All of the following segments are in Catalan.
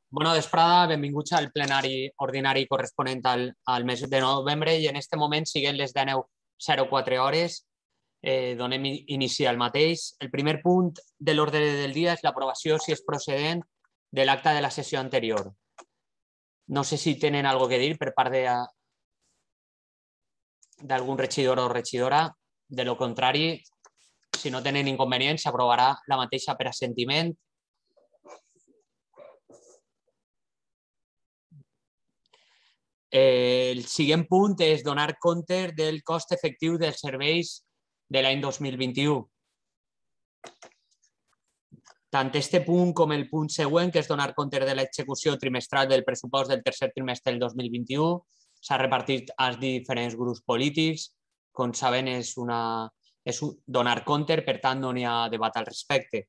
Bona vesprada, benvinguts al plenari ordinari corresponent al mes de novembre i en aquest moment, siguen les 19:04 hores, donem inici al mateix. El primer punt de l'ordre del dia és l'aprovació, si és procedent, de l'acta de la sessió anterior. No sé si tenen alguna cosa a dir per part d'algun regidor o regidora. De lo contrari, si no tenen inconvenients, s'aprovarà la mateixa per assentiment. El següent punt és donar compte del cost efectiu dels serveis de l'any 2021. Tant este punt com el punt següent, que és donar compte de l'execució trimestral del pressupost del tercer trimestre del 2021, s'ha repartit als diferents grups polítics. Com saben, és donar compte, per tant, no n'hi ha debat al respecte.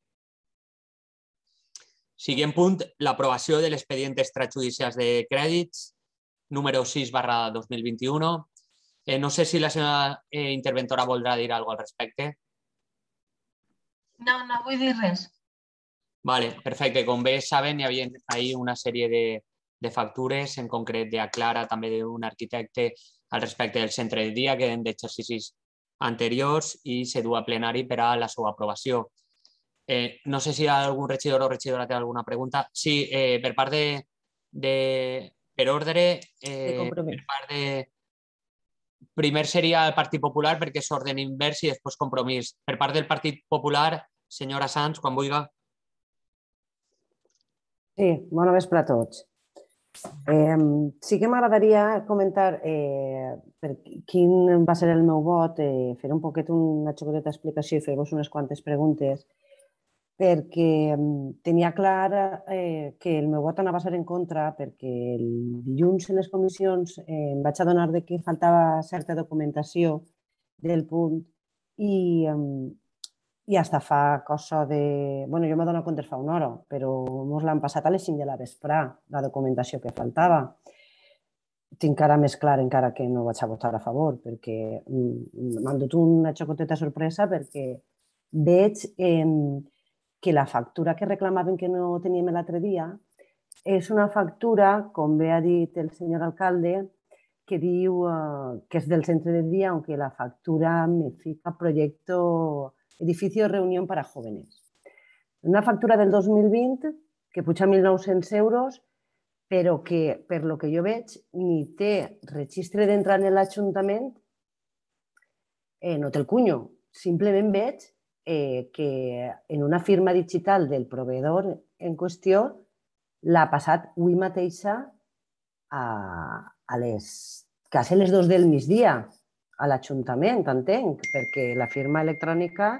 Següent punt, l'aprovació de l'expedient extrajudicials de crèdits, número 6/2021. No sé si la seva interventora voldrà dir alguna cosa al respecte. No, no vull dir res. Vale, perfecte. Com bé saben, hi havia ahir una sèrie de factures, en concret d'Aclara, també d'un arquitecte, al respecte del centre de dia, que eren d'exercicis anteriors i se du a plenari per a la seva aprovació. No sé si algun regidor o regidora té alguna pregunta. Sí, per part per ordre, per part de... Primer seria el Partit Popular perquè és ordre invers i després Compromís. Per part del Partit Popular, senyora Sanz, quan vulgui. Sí, bona vespre a tots. Sí que m'agradaria comentar quin va ser el meu vot, fer un poquet una xocoteta explicació i fer-vos unes quantes preguntes, perquè tenia clar que el meu vot anava a ser en contra, perquè el dilluns en les comissions em vaig adonar que faltava certa documentació del punt i hasta fa cosa de... Bé, jo m'he donat compte fa una hora, però ens l'han passat a les 5 de la vesprà, la documentació que faltava. Tinc encara més clar encara que no vaig a votar a favor, perquè m'han dut una xocoteta sorpresa perquè veig que la factura que reclamaven que no teníem l'altre dia és una factura, com bé ha dit el senyor alcalde, que diu que és del centre de dia, aunque la factura me fica proyecto edificio de reunión para jóvenes. Una factura del 2020 que puja 1.900 euros, però que, per lo que jo veig, ni té registre d'entrar en l'Ajuntament, no té el cunyo. Simplement veig que en una firma digital del proveïdor en qüestió l'ha passat avui mateixa a quasi les 2 del migdia a l'Ajuntament, entenc, perquè la firma electrònica...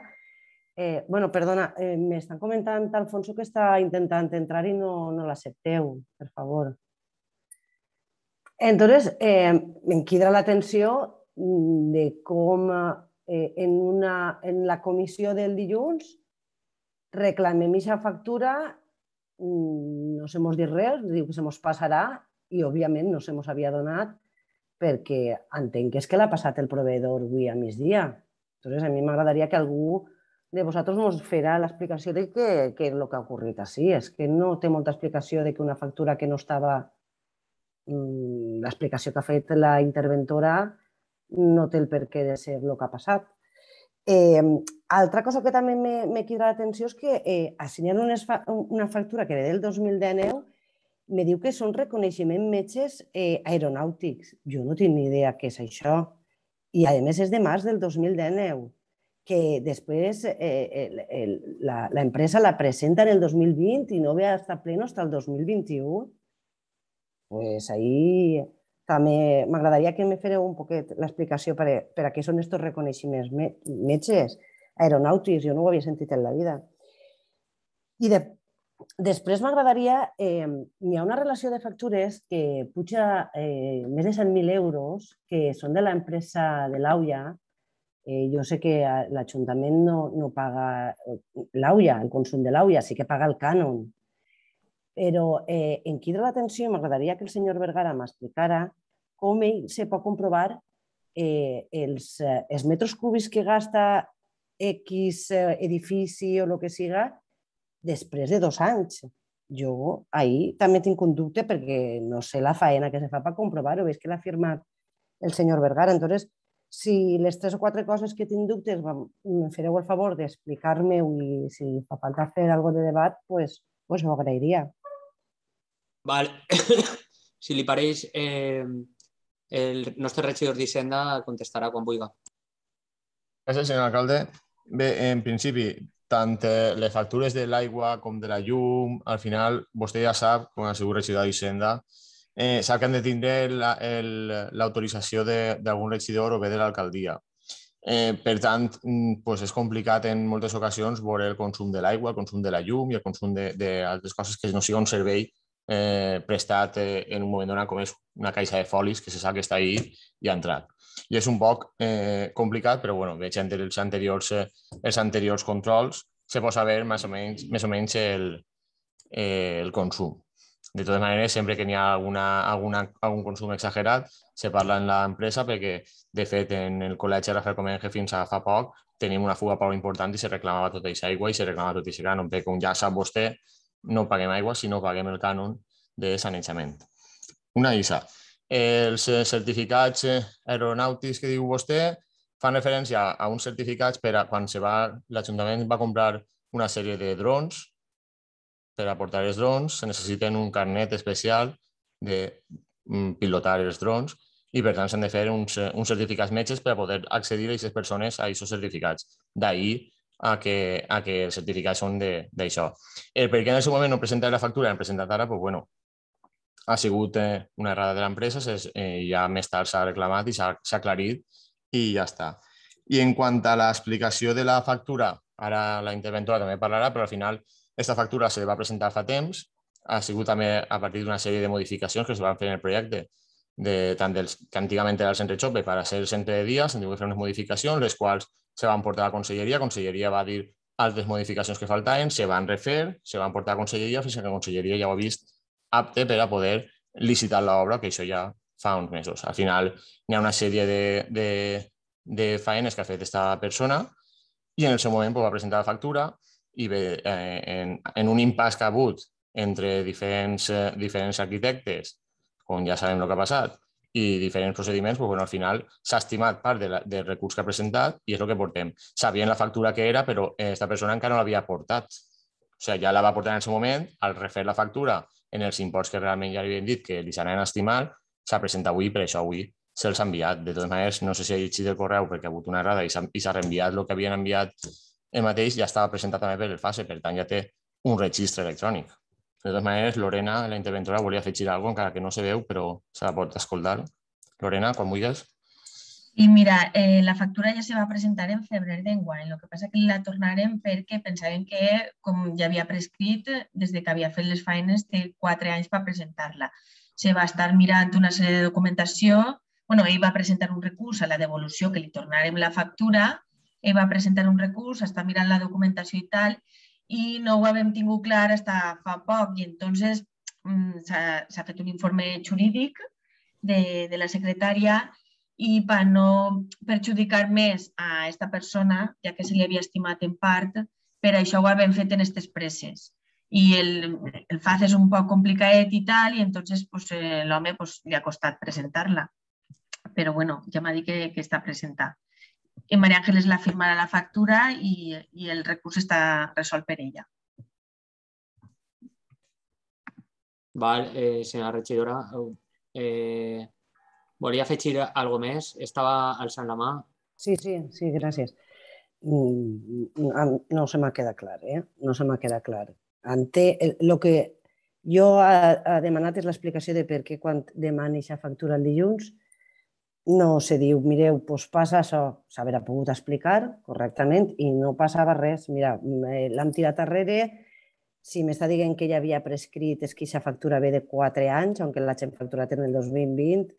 Bueno, perdona, m'estan comentant, Alfonso, que està intentant entrar i no l'accepteu, per favor. Entonces, em crida l'atenció de com en la comissió del dilluns reclamem aquesta factura, no se mos dit res, diu que se mos passarà i, òbviament, no se mos havia donat perquè entenc que és que l'ha passat el proveïdor avui a migdia. Entonces, a mi m'agradaria que algú de vosaltres ens farà l'explicació de què és el que ha ocorrit així. És que no té molta explicació de que una factura que no estava... L'explicació que ha fet la interventora no té el per què de ser el que ha passat. Altra cosa que també m'ha cridat l'atenció és que assenyant una factura que ve del 2019 me diu que són reconeixement metges aeronàutics. Jo no tinc ni idea què és això. I, a més, és de març del 2019, que després l'empresa la presenta en el 2020 i no ve a estar pleno fins al 2021. Doncs ahí també m'agradaria que me fareu un poquet l'explicació per a què són aquests reconeixements metges aeronàutics. Jo no ho havia sentit en la vida. I després m'agradaria... Hi ha una relació de factures que puja més de 100.000 euros, que són de l'empresa de l'AUIA. Jo sé que l'Ajuntament no paga l'AUIA, el consum de l'AUIA, sí que paga el cànon. Però em crida l'atenció i m'agradaria que el senyor Vergara m'explicara com ell se pot comprovar els metres cúbics que gasta X edifici o el que siga després de 2 anys. jo ahir també tinc un dubte perquè no sé la faena que se fa per comprovar-ho, és que l'ha firmat el senyor Vergara. Entonces, si les 3 o 4 coses que tinc dubtes me fareu el favor d'explicar-me-ho i si fa falta fer algo de debat, pues ho agrairia. Vale. Si li pareix, el nostre regidor d'Hisenda contestarà quan vulgui. Gràcies, senyor alcalde. Bé, en principi, tant les factures de l'aigua com de la llum, al final, vostè ja sap, com a segur regidor d'Hisenda, sap que han de tindre l'autorització d'algun regidor o bé de l'alcaldia. Per tant, és complicat en moltes ocasions veure el consum de l'aigua, el consum de la llum i el consum d'altres coses que no sigui un servei prestat en un moment donat, com és una caixa de folis que se sap que està ahí i ha entrat. I és un poc complicat, però bueno, veig entre els anteriors controls se pot saber més o menys el consum. De totes maneres, sempre que n'hi ha algun consum exagerat, se parla en l'empresa perquè, de fet, en el col·legi Rafael Comenge fins a fa poc tenim una fuga prou important i se reclamava tota aquesta aigua i se reclamava tot aquest cànon, perquè, com ja sap vostè, no paguem aigua, sinó paguem el cànon de sanejament. Una ISA. Els certificats aeronàutics que diu vostè fan referència a uns certificats per a quan l'Ajuntament va comprar una sèrie de drons. Per a portar els drons se necessiten un carnet especial de pilotar els drons i per tant s'han de fer uns certificats metges per a poder accedir a aquestes persones a aquests certificats. D'ahir a que els certificats són d'això. El per què en el seu moment no presentar la factura han presentat ara, ha sigut una errada de l'empresa, ja més tard s'ha reclamat i s'ha aclarit i ja està. I en quant a l'explicació de la factura, ara la interventora també parlarà, però al final aquesta factura se va presentar fa temps, ha sigut també a partir d'una sèrie de modificacions que es van fer en el projecte, tant dels que antigament era el centre Chope per a ser el centre de dia, s'han tingut que fer unes modificacions, les quals se van portar a la conselleria, la conselleria va dir altres modificacions que faltaven, se van refer, se van portar a la conselleria fins que la conselleria ja ho ha vist apte per a poder licitar l'obra, que això ja fa uns mesos. Al final hi ha una sèrie de faenes que ha fet aquesta persona i en el seu moment va presentar la factura i bé, en un impàs que ha hagut entre diferents arquitectes, on ja sabem el que ha passat, i diferents procediments, al final s'ha estimat part del recurs que ha presentat i és el que portem. Sabien la factura que era, però aquesta persona encara no l'havia portat. O sigui, ja la va portar en el seu moment, al refer la factura en els imports que realment ja li havien dit que li s'anaven a estimar, s'ha presentat avui, per això avui se'ls ha enviat. De totes maneres, no sé si ha llegit el correu perquè ha hagut una errada i s'ha reenviat el que havien enviat el mateix, ja estava presentat també per el FASE, per tant ja té un registre electrònic. De totes maneres, Lorena, la interventora, volia afegir alguna cosa, encara que no se veu, però se la pot escoltar. Lorena, quan vulguis. I mira, la factura ja se va presentar en febrer d'enguany, el que passa que la tornarem perquè pensaven que, com ja havia prescrit, des que havia fet les feines, té 4 anys per presentar-la. Se va estar mirant una sèrie de documentació, ell va presentar un recurs a la devolució, que li tornarem la factura, ell va presentar un recurs, està mirant la documentació i tal, i no ho havíem tingut clar fins fa poc, i entonces s'ha fet un informe jurídic de la secretària i per no perjudicar més a aquesta persona, ja que se li havia estimat en part, per això ho havíem fet en aquestes presses. I el FAZ és un poc complicat i tal, i entonces l'home li ha costat presentar-la. Però bueno, ja m'ha dit que està presentada. I María Ángeles la firmarà la factura i el recurs està resolt per ella. Val, senyora regidora, volia afegir alguna cosa més? Estava alçant la mà. Sí, gràcies. No se m'ha quedat clar, No se m'ha quedat clar. El que jo ha demanat és l'explicació de per què quan demani aquesta factura el dilluns no se diu, mireu, doncs passa això, s'haurà pogut explicar correctament i no passava res. Mira, l'hem tirat darrere, si m'està dient que ja havia prescrit és que aquesta factura ve de 4 anys, aunque l'hagin facturat en el 2020,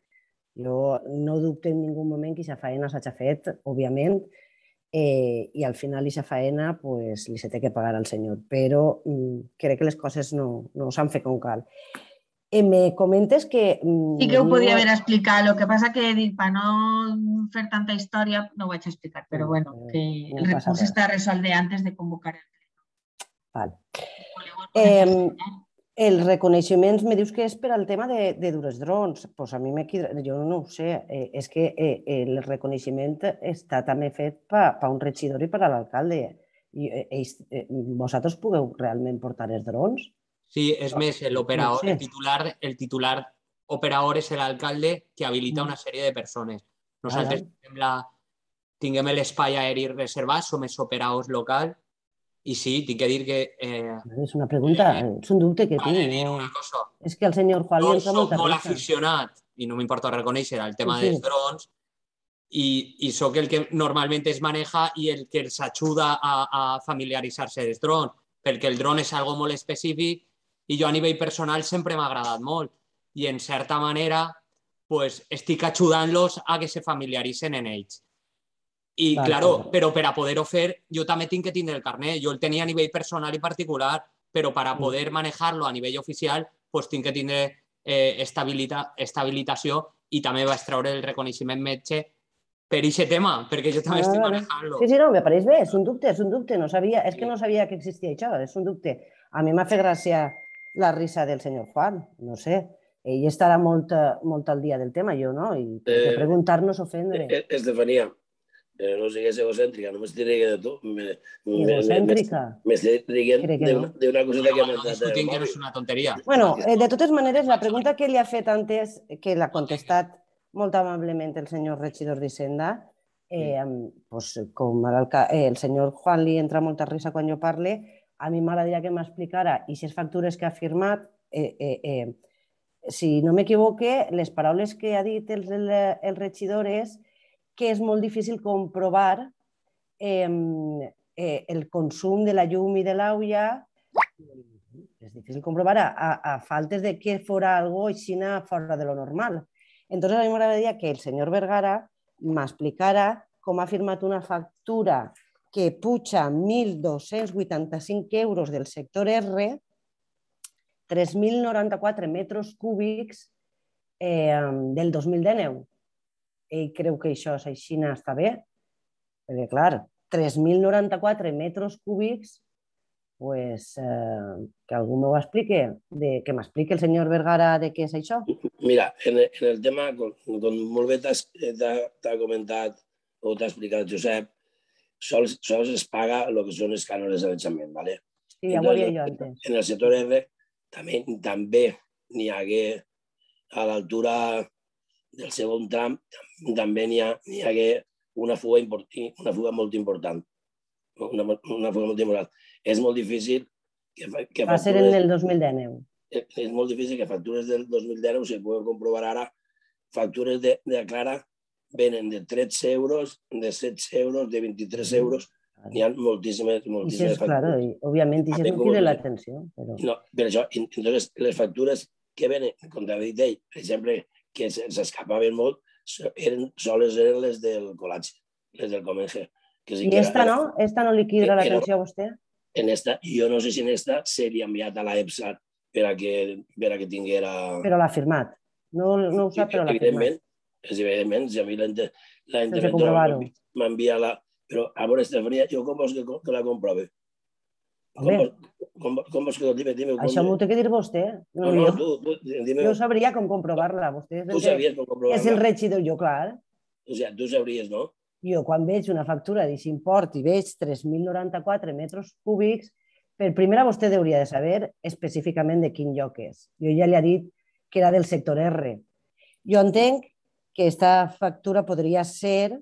jo no dubto en ningú moment que aquesta feina s'ha fet, òbviament, i al final aquesta feina li se té que pagar al senyor, però crec que les coses no s'han fet com cal. Me comentes que... Sí que ho podia haver explicat, el que passa que per no fer tanta història no ho vaig explicar, però bueno, que el recurs està resolt antes de convocar el pleno. Els reconeixements, me dius que és per al tema de dur els drons. Pues a mi jo no ho sé. És que el reconeixement està també fet per un regidor i per a l'alcalde. Vosaltres pugueu realment portar els drons? Sí, és més, No sé. el titular operador és l'alcalde que habilita una sèrie de persones. Nosaltres tinguem l'espai aeri reservat, som els operadors locals i sí, tinc que dir que... És una pregunta, és un dubte que tinc. És que el senyor Juan li entra molta soc molt risa. aficionat, i no m'importa reconèixer el tema Sí. dels drons, i sóc el que normalment es maneja i el que els ajuda a familiaritzar-se dels drons, perquè el dron és algo molt específic i jo a nivell personal sempre m'ha agradat molt i en certa manera pues, estic ajudant-los a que se familiaritzen en ells. I, claro, però per a poder-ho fer, jo també tinc que tindre el carnet. Jo el tenia a nivell personal i particular, però per a poder manejar-lo a nivell oficial, pues, tinc que tindre estabilitació i també vaig treure el reconeixement metge per aquest tema, perquè jo també estic manejant-lo. Sí, no, me pareix bé, és un dubte, no sabia, és que no sabia que existia això, és un dubte. A mi m'ha fet gràcia la risa del senyor Juan, no sé, ell estarà molt al dia del tema, jo no, i preguntar-nos ofendre. Estefania, no sigues egocèntrica, no m'estic riguent de tu. Egocèntrica? M'estic riguent d'una coseta que m'ha No discutim que no és una tonteria. Bueno, de totes maneres, la pregunta que li ha fet antes, que l'ha contestat molt amablement el senyor regidor d'Hisenda, com el senyor Juan li entra molta risa quan jo parle, a mi m'agradaria que m'explicara i aquestes factures que ha firmat, si no m'equivoque, les paraules que ha dit el regidor és que és molt difícil comprovar el consum de la llum i de l'aigua, és difícil comprovar a faltes de que fora algo així fora de lo normal. Entonces a mi m'agradaria que el senyor Vergara m'explicara com ha firmat una factura que puja 1.285 euros del sector R, 3.094 metres cúbics del 2019. Ell creu que això és així, està bé? Perquè, clar, 3.094 metres cúbics, que algú m'ho expliqui, que m'expliqui el senyor Vergara de què és això. Mira, en el tema, com molt bé t'ha comentat o t'ha explicat Josep, sols es paga el que són els cànons de sanejament, ¿vale? Sí, ja ho havia jo antes. En el sector R també n'hi hagué a l'altura del segon tram, també n'hi hagué una fuga molt important. Una fuga molt important. És molt difícil que va ser en el 2019. És molt difícil que factures del 2019 se puguen comprovar ara. Factures de Clara venen de 13 euros, de 16 euros, de 23 euros. N'hi ha moltíssimes factures. Claro, òbviament, això no crida l'atenció. No, per això, entonces, les factures que venen, com t'ha dit ell, per exemple, que s'escapaven molt, soles eren les del Col·legi, les del Comenge. I esta no? Esta no li crida l'atenció a vostè? En esta, jo no sé si en esta seria enviat a la EPSA per a que tinguera... Però l'ha firmat. No ho sap, però l'ha firmat. Evidentment, si a mi l'interventor m'envia la... Però, a veure, Estefania, jo com vols que la comprove? Com vols que... Dime, això m'ho té que dir vostè. No, tu, dime... Jo sabria com comprovar-la. Tu sabies com comprovar-la? És el regidor, jo, clar. O sigui, tu sabries, no? Jo, quan veig una factura d'aquest import i veig 3.094 metres cúbics, per primera vostè hauria de saber específicament de quin lloc és. Jo ja li he dit que era del sector R. Jo entenc que aquesta factura podria ser,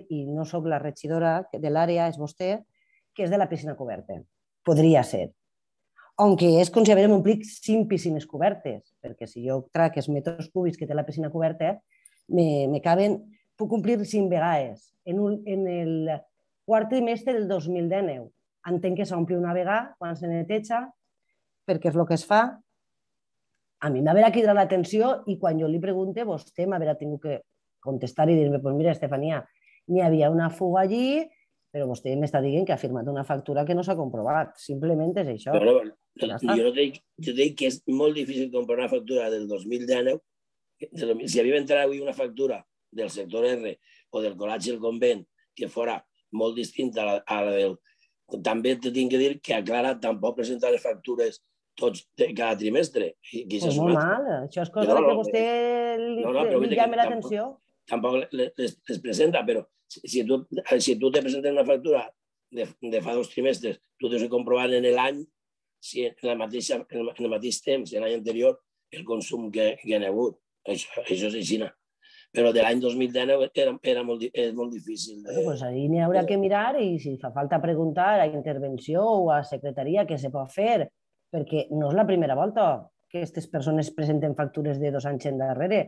i no sóc la regidora de l'àrea, és vostè, que és de la piscina coberta. Podria ser. Aunque és com si haguéssim omplit 5 piscines cobertes, perquè si jo trac els metres cúbics que té la piscina coberta, me caben... Puc complir 5 vegades. En el quart trimestre del 2019 entenc que s'ompli una vegada quan se neteja, perquè és el que es fa. A mi m'haurà cridat l'atenció i quan jo li pregunte, vostè m'haurà tingut que contestar i dir-me, pues mira, Estefania, n'hi havia una fuga allí, però vostè m'està dient que ha firmat una factura que no s'ha comprovat. Simplement és això. Jo dic que és molt difícil comprar una factura del 2019. Si havia entrat avui una factura del sector R o del Col·legi del Convent que fora molt distinta a la del... També te tinc que dir que a Clara tampoc presenta les factures tots cada trimestre. Pues molt mal, això és cosa que vostè li llame l'atenció. Tampoc les presenta, però si tu te presentes una factura de fa 2 trimestres, tu tens que comprovar en l'any si en el mateix temps, en l'any anterior, el consum que hi ha hagut. Això és així. Però de l'any 2019 és molt difícil. Doncs ahí n'hi haurà que mirar i si fa falta preguntar a intervenció o a secretaria què se pot fer, perquè no és la primera volta que aquestes persones presenten factures de 2 anys endarrere.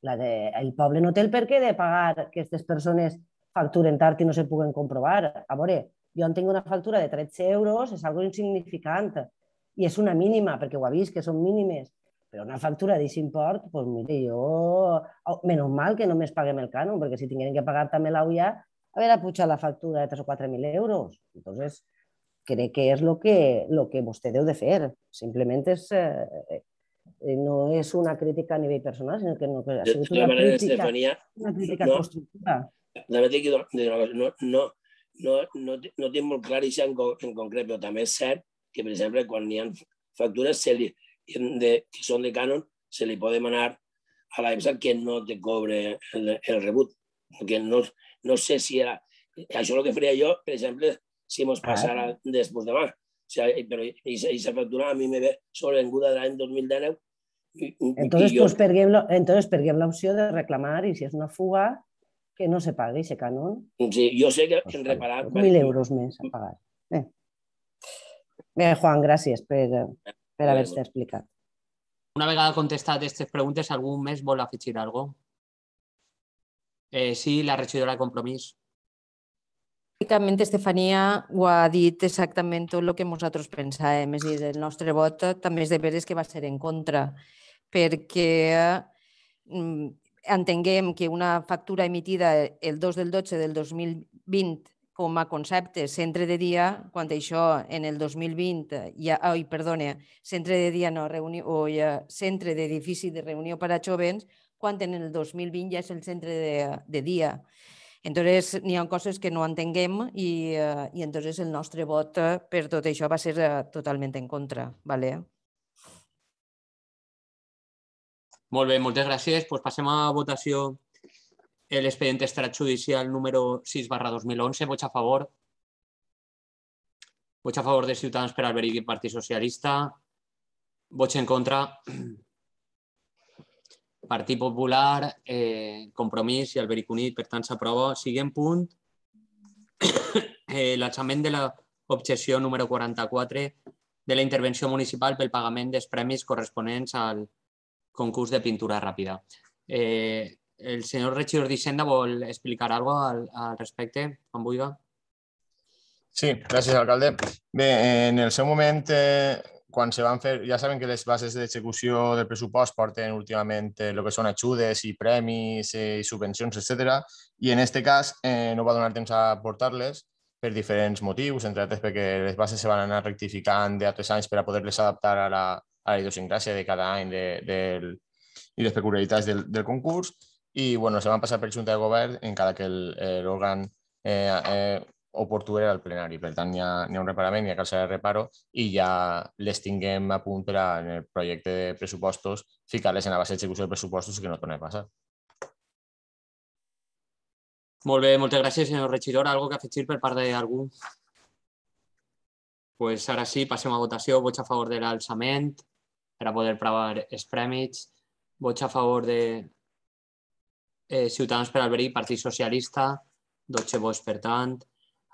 El poble no té el per què de pagar que aquestes persones facturen tard i no se puguen comprovar. A veure, jo en tinc una factura de 13 euros, és algo insignificant i és una mínima, perquè ho ha vist, que són mínimes. Però una factura d'aquest import, doncs mire, jo... Menys mal que només paguem el cànon, perquè si tingueren que pagar també l'AUIA, haver pujat la factura de 3 o 4.000 euros. Entonces, crec que és el que vostè deu de fer. Simplement no és una crítica a nivell personal, sinó que ha sigut una crítica constructiva. També t'he dit una cosa, no tinc molt clar això en concret, però també és cert que, per exemple, quan hi ha factures que són de cànon, se li pot demanar a l'EMSA que no te cobre el rebut. Que no sé si era... Això és el que faria jo, per exemple, si mos passara després demà. Però aquesta factura a mi me ve sobrevenguda de l'any 2019. Entonces perguem l'opció de reclamar i si és una fuga, que no se pagui aquest cànon. Sí, jo sé que en reparar... 1.000 euros més a pagar. Bé, Juan, gràcies per haver-te explicat. Una vegada contestat aquestes preguntes, algú més vol afegir alguna cosa? Sí, la regidora de Compromís. Bàsicament, Estefania ho ha dit exactament tot el que nosaltres pensàvem. És a dir, el nostre vot també és de veres que va ser en contra, perquè entenguem que una factura emitida el 2 del 12 del 2020 com a concepte centre de dia, quan això en el 2020, centre de dia no, centre d'edifici de reunió per a jovens, quan en el 2020 ja és el centre de dia. Entonces, n'hi ha coses que no entenguem i entonces el nostre vot per tot això va ser totalment en contra. Molt bé, moltes gràcies. Passem a votació l'expedient extrajudicial número 6/2011. Vots a favor. Vots a favor de Ciutadans per Alberic i Partit Socialista. Vots en contra. Partit Popular, Compromís i Alberic Unit, per tant s'aprova. Següent punt, l'alçament de l'objecció número 44 de la intervenció municipal pel pagament dels premis corresponents al concurs de pintura ràpida. El senyor regidor d'Hisenda vol explicar alguna cosa al respecte, quan vulgui. Sí, gràcies, alcalde. Bé, en el seu moment, quan se van fer, ja saben que les bases d'execució del pressupost porten últimament el que són ajudes i premis i subvencions, etc. I en aquest cas no va donar temps a portar-les per diferents motius, entre altres perquè les bases se van anar rectificant d'altres anys per a poder-les adaptar a la idiosincràsia de cada any i les peculiaritats del concurs. I se van passar per Junta de Govern encara que l'òrgan oportú era el plenari. Per tant, hi ha un reparament, hi ha calçar de reparo i ja les tinguem a punt per en el projecte de pressupostos ficar-les en la base d'execució de pressupostos i que no torni a passar. Molt bé, moltes gràcies, senyor regidor. ¿Algo que afegir per part d'algú? Doncs ara sí, passem a votació. Vots a favor de l'alçament per a poder pagar els premis. Vots a favor de Ciutadans per Alberic, Partit Socialista. 12 vots, per tant.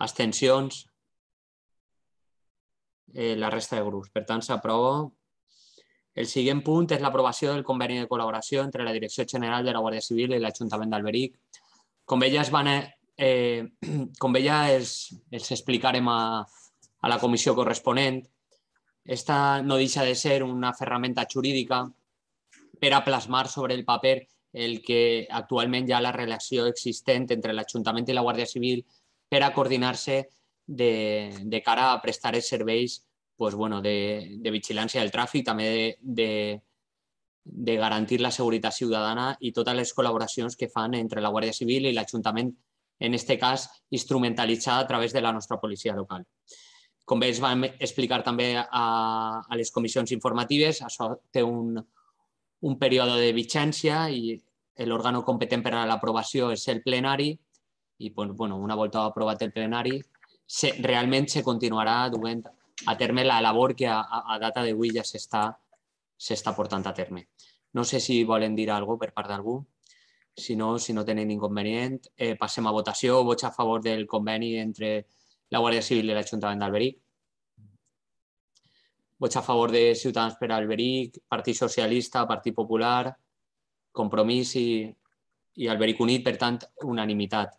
Abstencions. La resta de grups. Per tant, s'aprova. El següent punt és l'aprovació del conveni de col·laboració entre la Direcció General de la Guàrdia Civil i l'Ajuntament d'Alberic. Com bé ja els explicarem a la comissió corresponent, esta no deixa de ser una ferramenta jurídica per a plasmar sobre el paper el que actualment hi ha la relació existent entre l'Ajuntament i la Guàrdia Civil per a coordinar-se de cara a prestar els serveis de vigilància del tràfic, també de garantir la seguretat ciutadana i totes les col·laboracions que fan entre la Guàrdia Civil i l'Ajuntament, en aquest cas instrumentalitzada a través de la nostra policia local. Com bé es va explicar també a les comissions informatives, això té un període de vigència i l'òrgan competent per a l'aprovació és el plenari i una volta aprovat el plenari realment se continuarà duent a terme la labor que a data d'avui ja s'està portant a terme. No sé si volen dir alguna cosa per part d'algú. Si no tenen inconvenient, passem a votació. Vots a favor del conveni entre la Guàrdia Civil i l'Ajuntament d'Alberic. Vots a favor de Ciutadans per Alberic, Partit Socialista, Partit Popular, Compromís i Alberic Unit, per tant, unanimitat.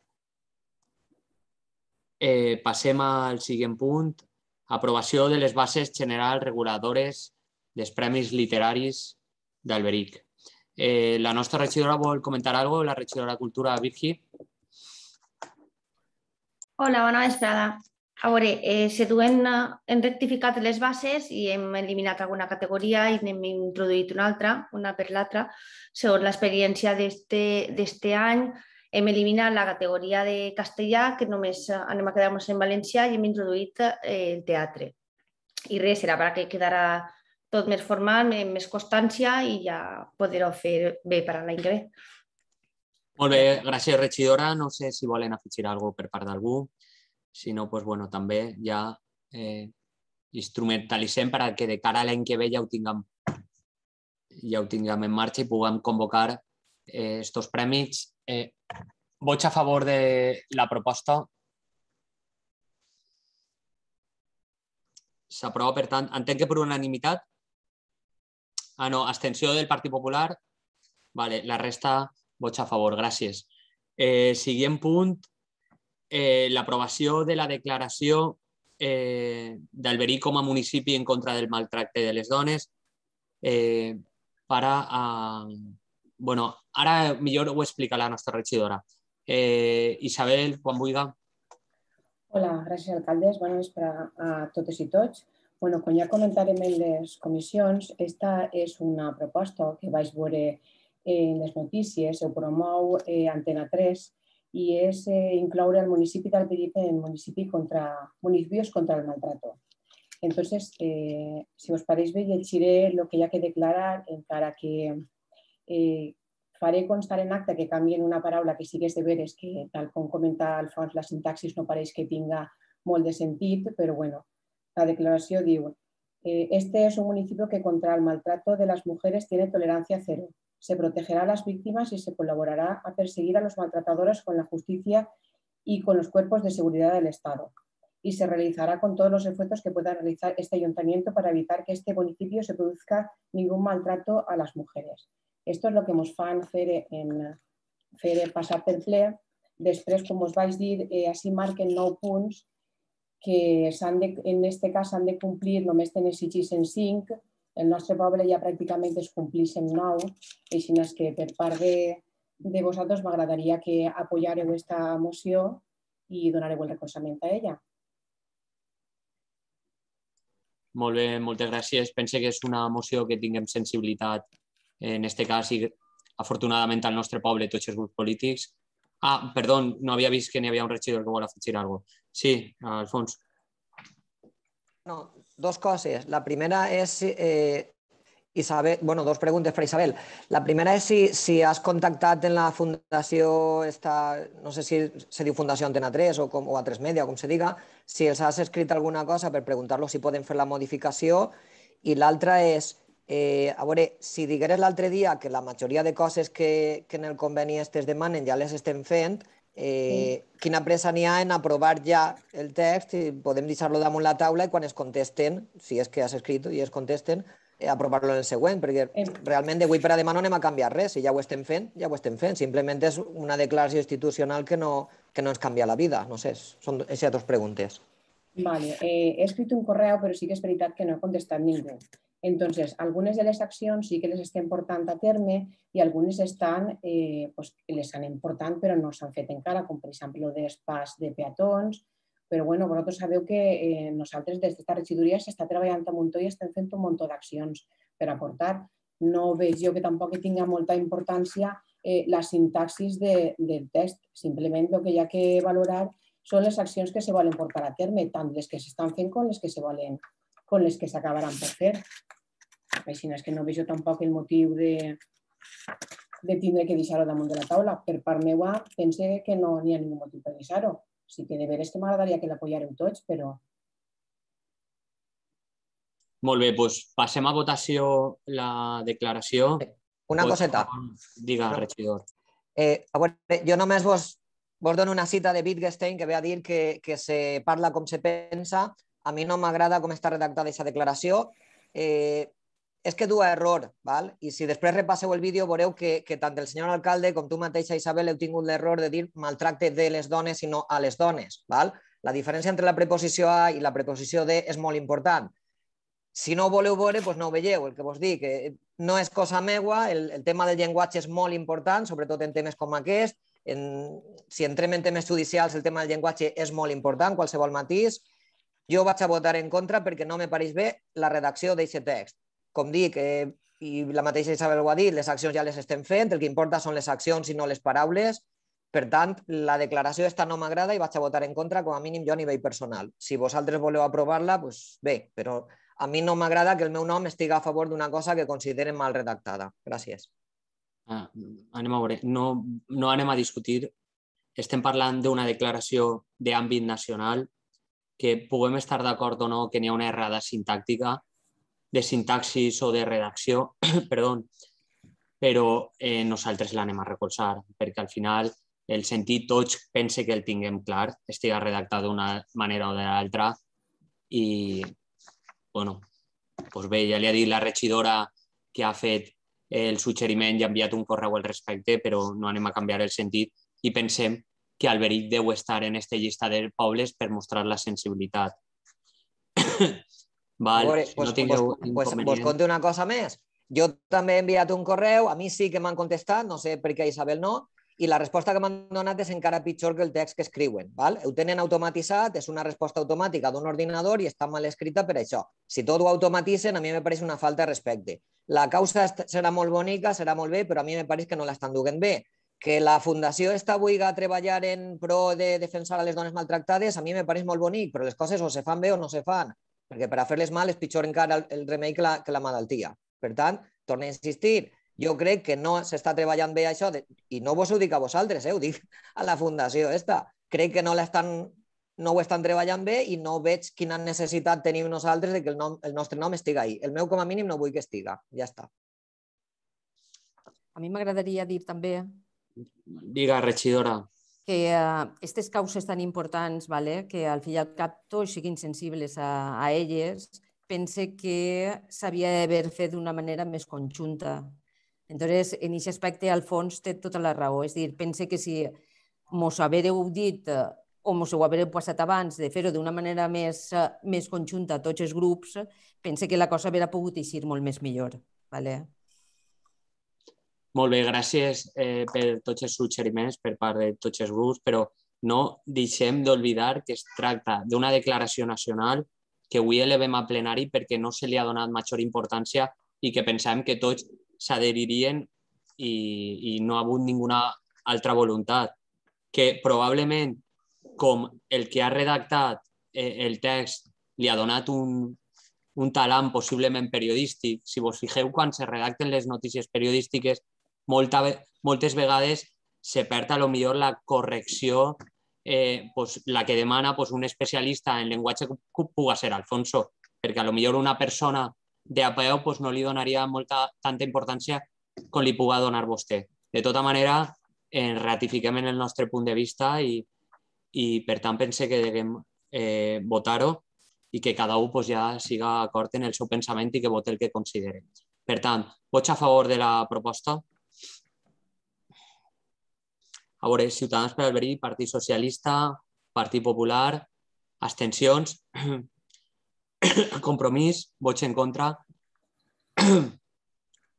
Passem al següent punt. Aprovació de les bases generals reguladores dels Premis Literaris d'Alberic. La nostra regidora vol comentar alguna cosa? La regidora de Cultura, Virgi. Hola, bona vesprada. A veure, hem rectificat les bases i hem eliminat alguna categoria i n'hem introduït una altra, una per l'altra. Segons l'experiència d'este any, hem eliminat la categoria de castellà, que només anem a quedar-nos en valencià, i hem introduït el teatre. I res, serà perquè quedarà tot més formal, amb més constància i ja poder-ho fer bé per a l'any que ve. Molt bé, gràcies, regidora. No sé si volen afegir alguna cosa per part d'algú. Si no, també ja instrumentalitzem perquè de cara a l'any que ve ja ho tinguem en marxa i puguem convocar estos premis. Vots a favor de la proposta. S'aprova, per tant, entenc que per unanimitat. No, abstenció del Partit Popular. La resta, vots a favor. Gràcies. Següent punt. L'aprovació de la declaració d'Alberic com a municipi en contra del maltracte de les dones. Ara millor ho explica la nostra regidora. Isabel, quan vulgui. Hola, gràcies, alcaldes. Bona vesprada a totes i tots. Com ja comentarem en les comissions, esta és una proposta que vaig veure en les notícies, ho promou Antena 3, i és incloure el municipi d'Alberic en municipis contra el maltrato. Entonces, si us pareix bé, llegiré el que hi ha que declarar, encara que faré constar en acta que canvien una paraula que sí que és de veres, que tal com comenta Alfons, la sintaxis no pareix que tinga molt de sentit, però bueno, la declaració diu: este es un municipio que contra el maltrato de las mujeres tiene tolerancia cero. Se protegerá a las víctimas y se colaborará a perseguir a los maltratadores con la justicia y con los cuerpos de seguridad del Estado. Y se realizará con todos los esfuerzos que pueda realizar este ayuntamiento para evitar que este municipio se produzca ningún maltrato a las mujeres. Esto es lo que ens fan fer passar per ple. Després, com us vaig dir, així marquen 9 punts que en aquest cas s'han de complir, només tenen exigits en 5. El nostre poble ja pràcticament es compleix en 9, així que per part de vosaltres m'agradaria que apoyareu aquesta moció i donareu el recolzament a ella. Molt bé, moltes gràcies. Pense que és una moció que tinguem sensibilitat, en aquest cas, i afortunadament al nostre poble, tots els grups polítics. Perdó, no havia vist que n'hi havia un regidor que vol afegir alguna cosa. Sí, Alfons. No, dos coses. La primera és, Isabel, dos preguntes per Isabel. La primera és si has contactat en la fundació, no sé si se diu Fundació Antena 3 o A3 Media, com se diga, si els has escrit alguna cosa per preguntar-los si poden fer la modificació. I l'altra és, a veure, si digueres l'altre dia que la majoria de coses que en el conveni es demanen ja les estem fent, quina pressa n'hi ha en aprovar ja el text i podem deixar-lo damunt la taula i quan es contesten, si és que has escrit i es contesten, aprovar-lo en el següent, perquè realment d'avui per a demà no anem a canviar res. Si ja ho estem fent, ja ho estem fent. Simplement és una declaració institucional que no ens canvia la vida. No sé, són aquestes dues preguntes. Vale, he escrit un correu, però sí que és veritat que no he contestat ningú. Entonces, algunes de les accions sí que les estem portant a terme i algunes les anem portant però no s'han fet encara, com per exemple el dels pas de peatons. Però vosaltres sabeu que nosaltres des d'esta regidoria s'està treballant un muntó i estem fent un muntó d'accions per aportar. No veig jo que tampoc tinga molta importància la sintaxis del text. Simplement el que hi ha que valorar són les accions que se volen portar a terme, tant les que s'estan fent com les que s'acabaran per fer. Així és que no veig tampoc el motiu de tindre que deixar-ho damunt de la taula. Per part meva, pense que no hi ha ningú motiu per deixar-ho. Sí que de veres que m'agradaria que l'apoyareu tots, però... Molt bé, doncs passem a votació la declaració. Una coseta. Diga, regidor. A veure, jo només vos dono una cita de Wittgenstein que ve a dir que se parla com se pensa. A mi no m'agrada com està redactada aquesta declaració. És que du a error, val? I si després repasseu el vídeo veureu que tant el senyor alcalde com tu mateixa, Isabel, heu tingut l'error de dir maltracte de les dones i no a les dones. Val? La diferència entre la preposició a i la preposició de és molt important. Si no ho voleu veure, doncs no ho veieu. El que vos dic, no és cosa meua, el tema del llenguatge és molt important, sobretot en temes com aquest. Si entrem en temes judicials, el tema del llenguatge és molt important, qualsevol matís. Jo vaig a votar en contra perquè no me pareix bé la redacció d'aquest text. Com dic, i la mateixa Isabel ho ha dit, les accions ja les estem fent, el que importa són les accions i no les paraules. Per tant, la declaració esta no m'agrada i vaig a votar en contra, com a mínim jo a nivell personal. Si vosaltres voleu aprovar-la, doncs bé, però a mi no m'agrada que el meu nom estigui a favor d'una cosa que consideren mal redactada. Gràcies. Anem a veure, no anem a discutir. Estem parlant d'una declaració d'àmbit nacional que puguem estar d'acord o no que n'hi ha una errada sintàctica, de sintaxis o de redacció, perdó, però nosaltres l'anem a recolzar, perquè al final el sentit tots pense que el tinguem clar, estigui redactat d'una manera o de l'altra i, bueno, doncs bé, ja li ha dit la regidora que ha fet el suggeriment i ha enviat un correu al respecte, però no anem a canviar el sentit i pensem que Alberic deu estar en aquesta llista de pobles per mostrar la sensibilitat. Vos conto una cosa més. Jo també he enviat un correu, a mi sí que m'han contestat, no sé per què Isabel no, i la resposta que m'han donat és encara pitjor que el text que escriuen. Ho tenen automatitzat, és una resposta automàtica d'un ordinador i està mal escrita per això. Si tot ho automatitzen, a mi me pareix una falta de respecte. La causa serà molt bonica, serà molt bé, però a mi me pareix que no l'estan duent bé. Que la fundació està avui a treballar en pro de defensar a les dones maltractades, a mi me pareix molt bonic, però les coses o se fan bé o no se fan. Perquè per a fer-les mal és pitjor encara el remei que la malaltia. Per tant, torno a insistir, jo crec que no s'està treballant bé això, i no vos ho dic a vosaltres, ho dic a la fundació esta. Crec que no ho estan treballant bé i no veig quina necessitat tenim nosaltres que el nostre nom estigui ahí. El meu com a mínim no vull que estiga, ja està. A mi m'agradaria dir també... Diga, regidora. Que aquestes causes tan importants, que al fi i al cap tots siguin sensibles a elles, pense que s'havia d'haver fet d'una manera més conjunta. Entonces, en aquest aspecte, al fons, té tota la raó. És a dir, pense que si mos haguéreu dit o mos ho haguéreu passat abans de fer-ho d'una manera més conjunta a tots els grups, pense que la cosa hauria pogut eixir molt més millor. Molt bé, gràcies per tots els suggeriments per part de tots els grups, però no deixem d'oblidar que es tracta d'una declaració nacional que avui elevem a plenari perquè no se li ha donat major importància i que pensàvem que tots s'adheririen i no ha hagut ninguna altra voluntat. Que probablement, com el que ha redactat el text li ha donat un talant possiblement periodístic, si vos fixeu quan se redacten les notícies periodístiques, moltes vegades se perd a lo millor la correcció, la que demana un especialista en llenguatge que pugui ser Alfonso, perquè a lo millor una persona de peu no li donaria tanta importància com li pugui donar vostè. De tota manera, ratifiquem en el nostre punt de vista i per tant pense que devem votar-ho i que cada un ja siga d'acord en el seu pensament i que vote el que considere. Per tant, vots a favor de la proposta? A veure, Ciutadans per Alberic, Partit Socialista, Partit Popular, abstencions, Compromís, vots en contra,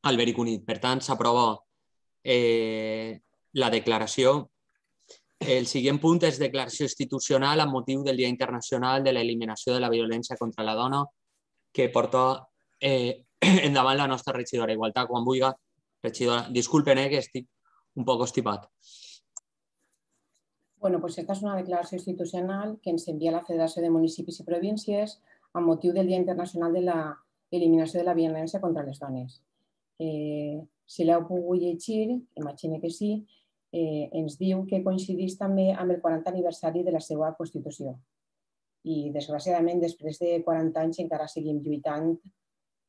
Alberic Unit. Per tant, s'aprova la declaració. El següent punt és declaració institucional amb motiu del Dia Internacional de l'Eliminació de la Violència contra la Dona, que porta endavant la nostra regidora d'Igualtat. Quan vulgui, regidora, disculpen que estic un poc estipat. Bueno, pues esta és una declaració institucional que ens envia la Federació de Municipis i Províncies amb motiu del Dia Internacional de l'Eliminació de la Violència contra les Dones. Si l'heu pogut llegir, imagino que sí, ens diu que coincideix també amb el 40 aniversari de la seva Constitució. I, desgraciadament, després de 40 anys encara seguim lluitant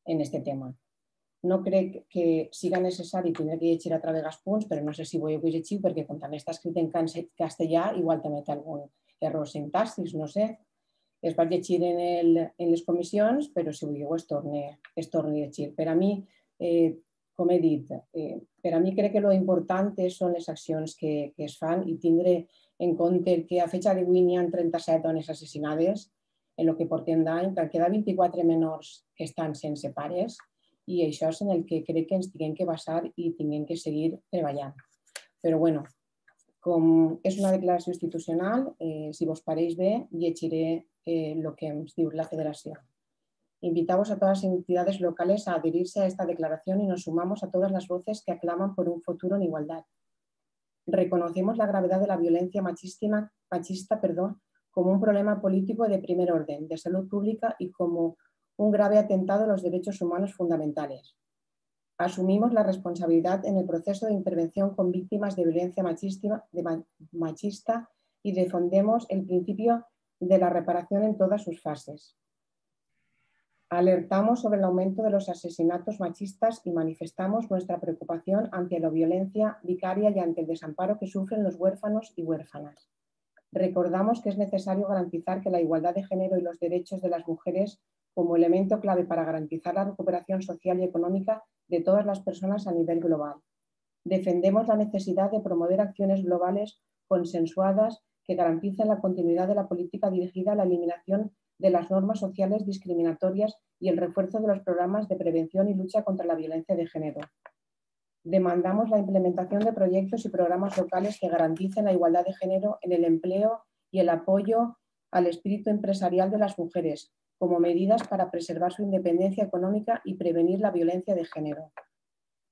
en aquest tema. No crec que siga necessari tindre que llegir altra vegada els punts, però no sé si voleu que llegiu, perquè com també està escrit en castellà, igual també té algun error sintàctic, no sé. Es va llegir en les comissions, però si voleu es torna a llegir. Per a mi, com he dit, per a mi crec que l'important són les accions que es fan i tindre en compte que a fecha d'avui n'hi ha 37 dones assassinades en el que portem d'any, que queda 24 menors que estan sense pares, i això és en el que crec que ens tinguem que basar i tinguem que seguir treballant. Però bueno, com és una declaració institucional, si vos pareix bé, llegiré el que ens diu la Federació. Invitamos a todas las entidades locales a adherirse a esta declaración y nos sumamos a todas las voces que aclaman por un futuro en igualdad. Reconocemos la gravedad de la violencia machista como un problema político de primer orden, de salud pública y como un grave atentado a los derechos humanos fundamentales. Asumimos la responsabilidad en el proceso de intervención con víctimas de violencia machista y defendemos el principio de la reparación en todas sus fases. Alertamos sobre el aumento de los asesinatos machistas y manifestamos nuestra preocupación ante la violencia vicaria y ante el desamparo que sufren los huérfanos y huérfanas. Recordamos que es necesario garantizar que la igualdad de género y los derechos de las mujeres como elemento clave para garantizar la recuperación social y económica de todas las personas a nivel global. Defendemos la necesidad de promover acciones globales consensuadas que garanticen la continuidad de la política dirigida a la eliminación de las normas sociales discriminatorias y el refuerzo de los programas de prevención y lucha contra la violencia de género. Demandamos la implementación de proyectos y programas locales que garanticen la igualdad de género en el empleo y el apoyo al espíritu empresarial de las mujeres, como medidas para preservar su independencia económica y prevenir la violencia de género.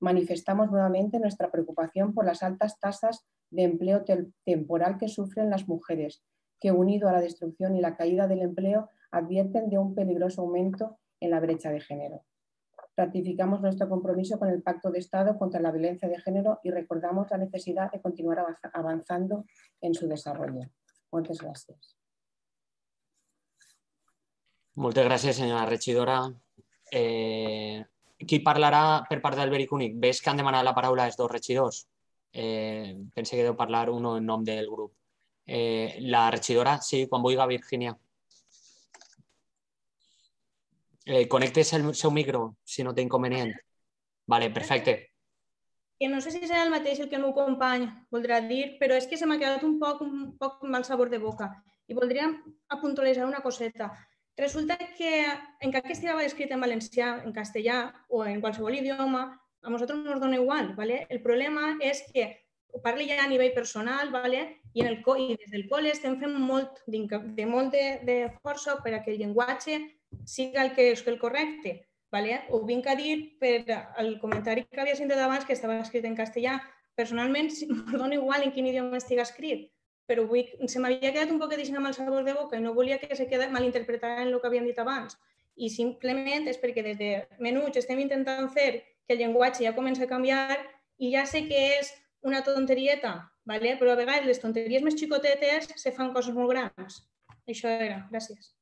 Manifestamos nuevamente nuestra preocupación por las altas tasas de empleo temporal que sufren las mujeres, que unido a la destrucción y la caída del empleo advierten de un peligroso aumento en la brecha de género. Ratificamos nuestro compromiso con el Pacto de Estado contra la Violencia de Género y recordamos la necesidad de continuar avanzando en su desarrollo. Muchas gracias. Moltes gràcies, senyora regidora. Qui parlarà per part del Beric Únic? Ves que han demanat la paraula els dos regidors. Pense que deu parlar un en nom del grup. La regidora, sí, quan vulgui, Virginia. Connectes el seu micro, si no té inconvenient. Vale, perfecte. Que no sé si serà el mateix el que el meu company voldrà dir, però és que se m'ha quedat un poc mal sabor de boca. I voldria apuntualitzar una coseta. Resulta que, encara que estigui escrit en valencià, en castellà o en qualsevol idioma, a nosaltres nos dona igual. El problema és que ho parli ja a nivell personal i des del col·le estem fent molt de força perquè el llenguatge siga el que és el correcte. Ho vinc a dir per el comentari que havia sentit abans, que estava escrit en castellà. Personalment, em dona igual en quin idioma estigui escrit, però se m'havia quedat un poc amb el sabor de boca i no volia que se quedés malinterpretat en el que havíem dit abans. I simplement és perquè des de menuts estem intentant fer que el llenguatge ja comença a canviar i ja sé que és una tonterieta, però a vegades les tonteries més xicotetes se fan coses molt grans. Això era. Gràcies.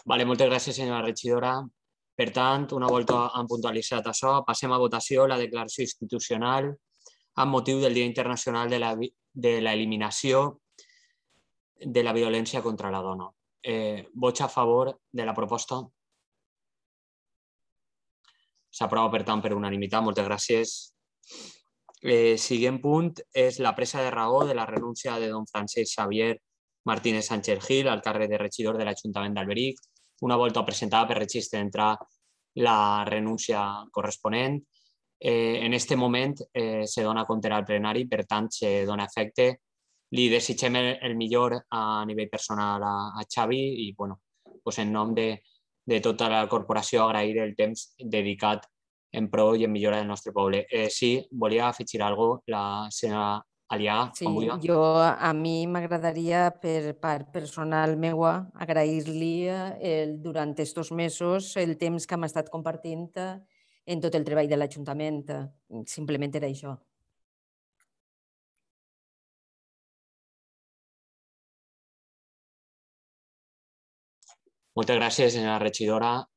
Moltes gràcies, senyora regidora. Per tant, una volta han puntualitzat això, passem a votació la declaració institucional amb motiu del Dia Internacional de l'Eliminació de la Violència contra la Dona. Vots a favor de la proposta? S'aprova, per tant, per unanimitat. Moltes gràcies. Següent punt és la presa de raó de la renúncia de don Francesc Xavier Martínez Sánchez Gil al càrrec de regidor de l'Ajuntament d'Alberic. Una volta presentada per registre entrar la renúncia corresponent. En aquest moment se dona compte al plenari, per tant, se dona efecte. Li desitgem el millor a nivell personal a Xavi i, en nom de tota la corporació, agrair el temps dedicat en pro i en millora del nostre poble. Sí, volia afegir alguna cosa la senyora Aliaga, Sí, quan vulgui. a mi m'agradaria, per part personal meua, agrair-li durant aquests mesos el temps que hem estat compartint en tot el treball de l'Ajuntament. Simplement era això. Moltes gràcies, senyora regidora.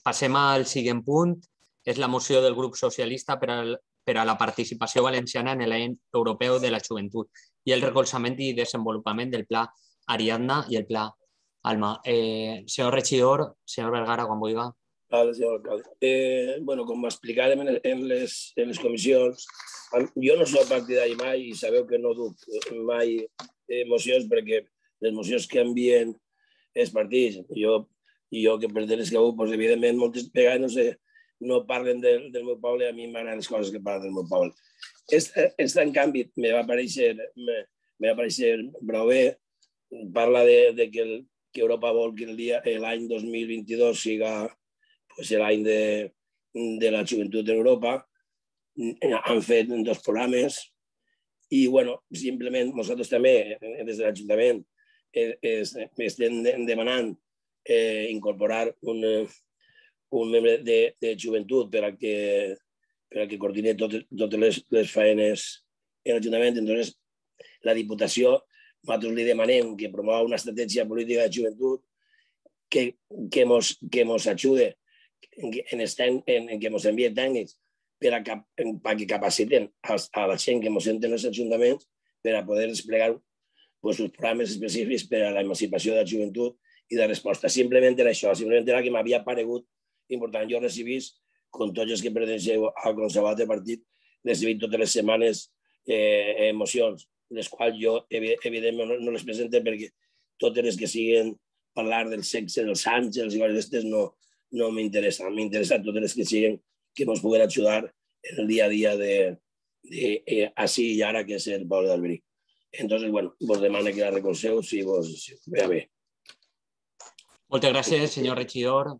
Passem al següent punt. És la moció del grup socialista per a la participació valenciana en l'any europeu de la joventut i el recolzament i desenvolupament del Pla Ariadna i el Pla Alma. Senyor regidor, senyor Vergara, quan vulgui. Vale, senyor alcalde. Bueno, com explicarem en les comissions, jo no soc partidari mai i sabeu que no duc mai mocions perquè les mocions que envien els partits, jo que pertenec a un, evidentment, moltes vegades no parlen del meu poble, a mi m'agraden les coses que parlen del meu poble. Esta, en canvi, me va aparèixer prou bé. Parla de que Europa vol que l'any 2022 siga l'any de la joventut d'Europa. Han fet 2 programes i, bueno, simplement nosaltres també, des de l'Ajuntament, estem demanant incorporar un membre de joventut per a que coordini totes les faenes en l'Ajuntament. Entonces, la Diputació, nosaltres li demanem que promova una estratègia política de joventut que ens ajude, que ens envie tècnics perquè capaciten a la gent que ens senten els ajuntaments per a poder desplegar els programes específics per a l'emancipació de la joventut i de resposta. Simplement era això, simplement era que m'havia paregut important. Jo recibís, com tots els que pertenceu al Consejo de Partit, recibit totes les setmanes mocions, les quals jo, evidentment, no les presento perquè totes les que siguen parlar del sexe dels àngels i coses d'aquestes no m'interessen. M'interessen totes les que siguen que ens puguen ajudar en el dia a dia de així i ara, que és el poble d'Alberic. Entonces, bueno, vos demano que la recolzeu si vos ve bé. Moltes gràcies, senyor regidor.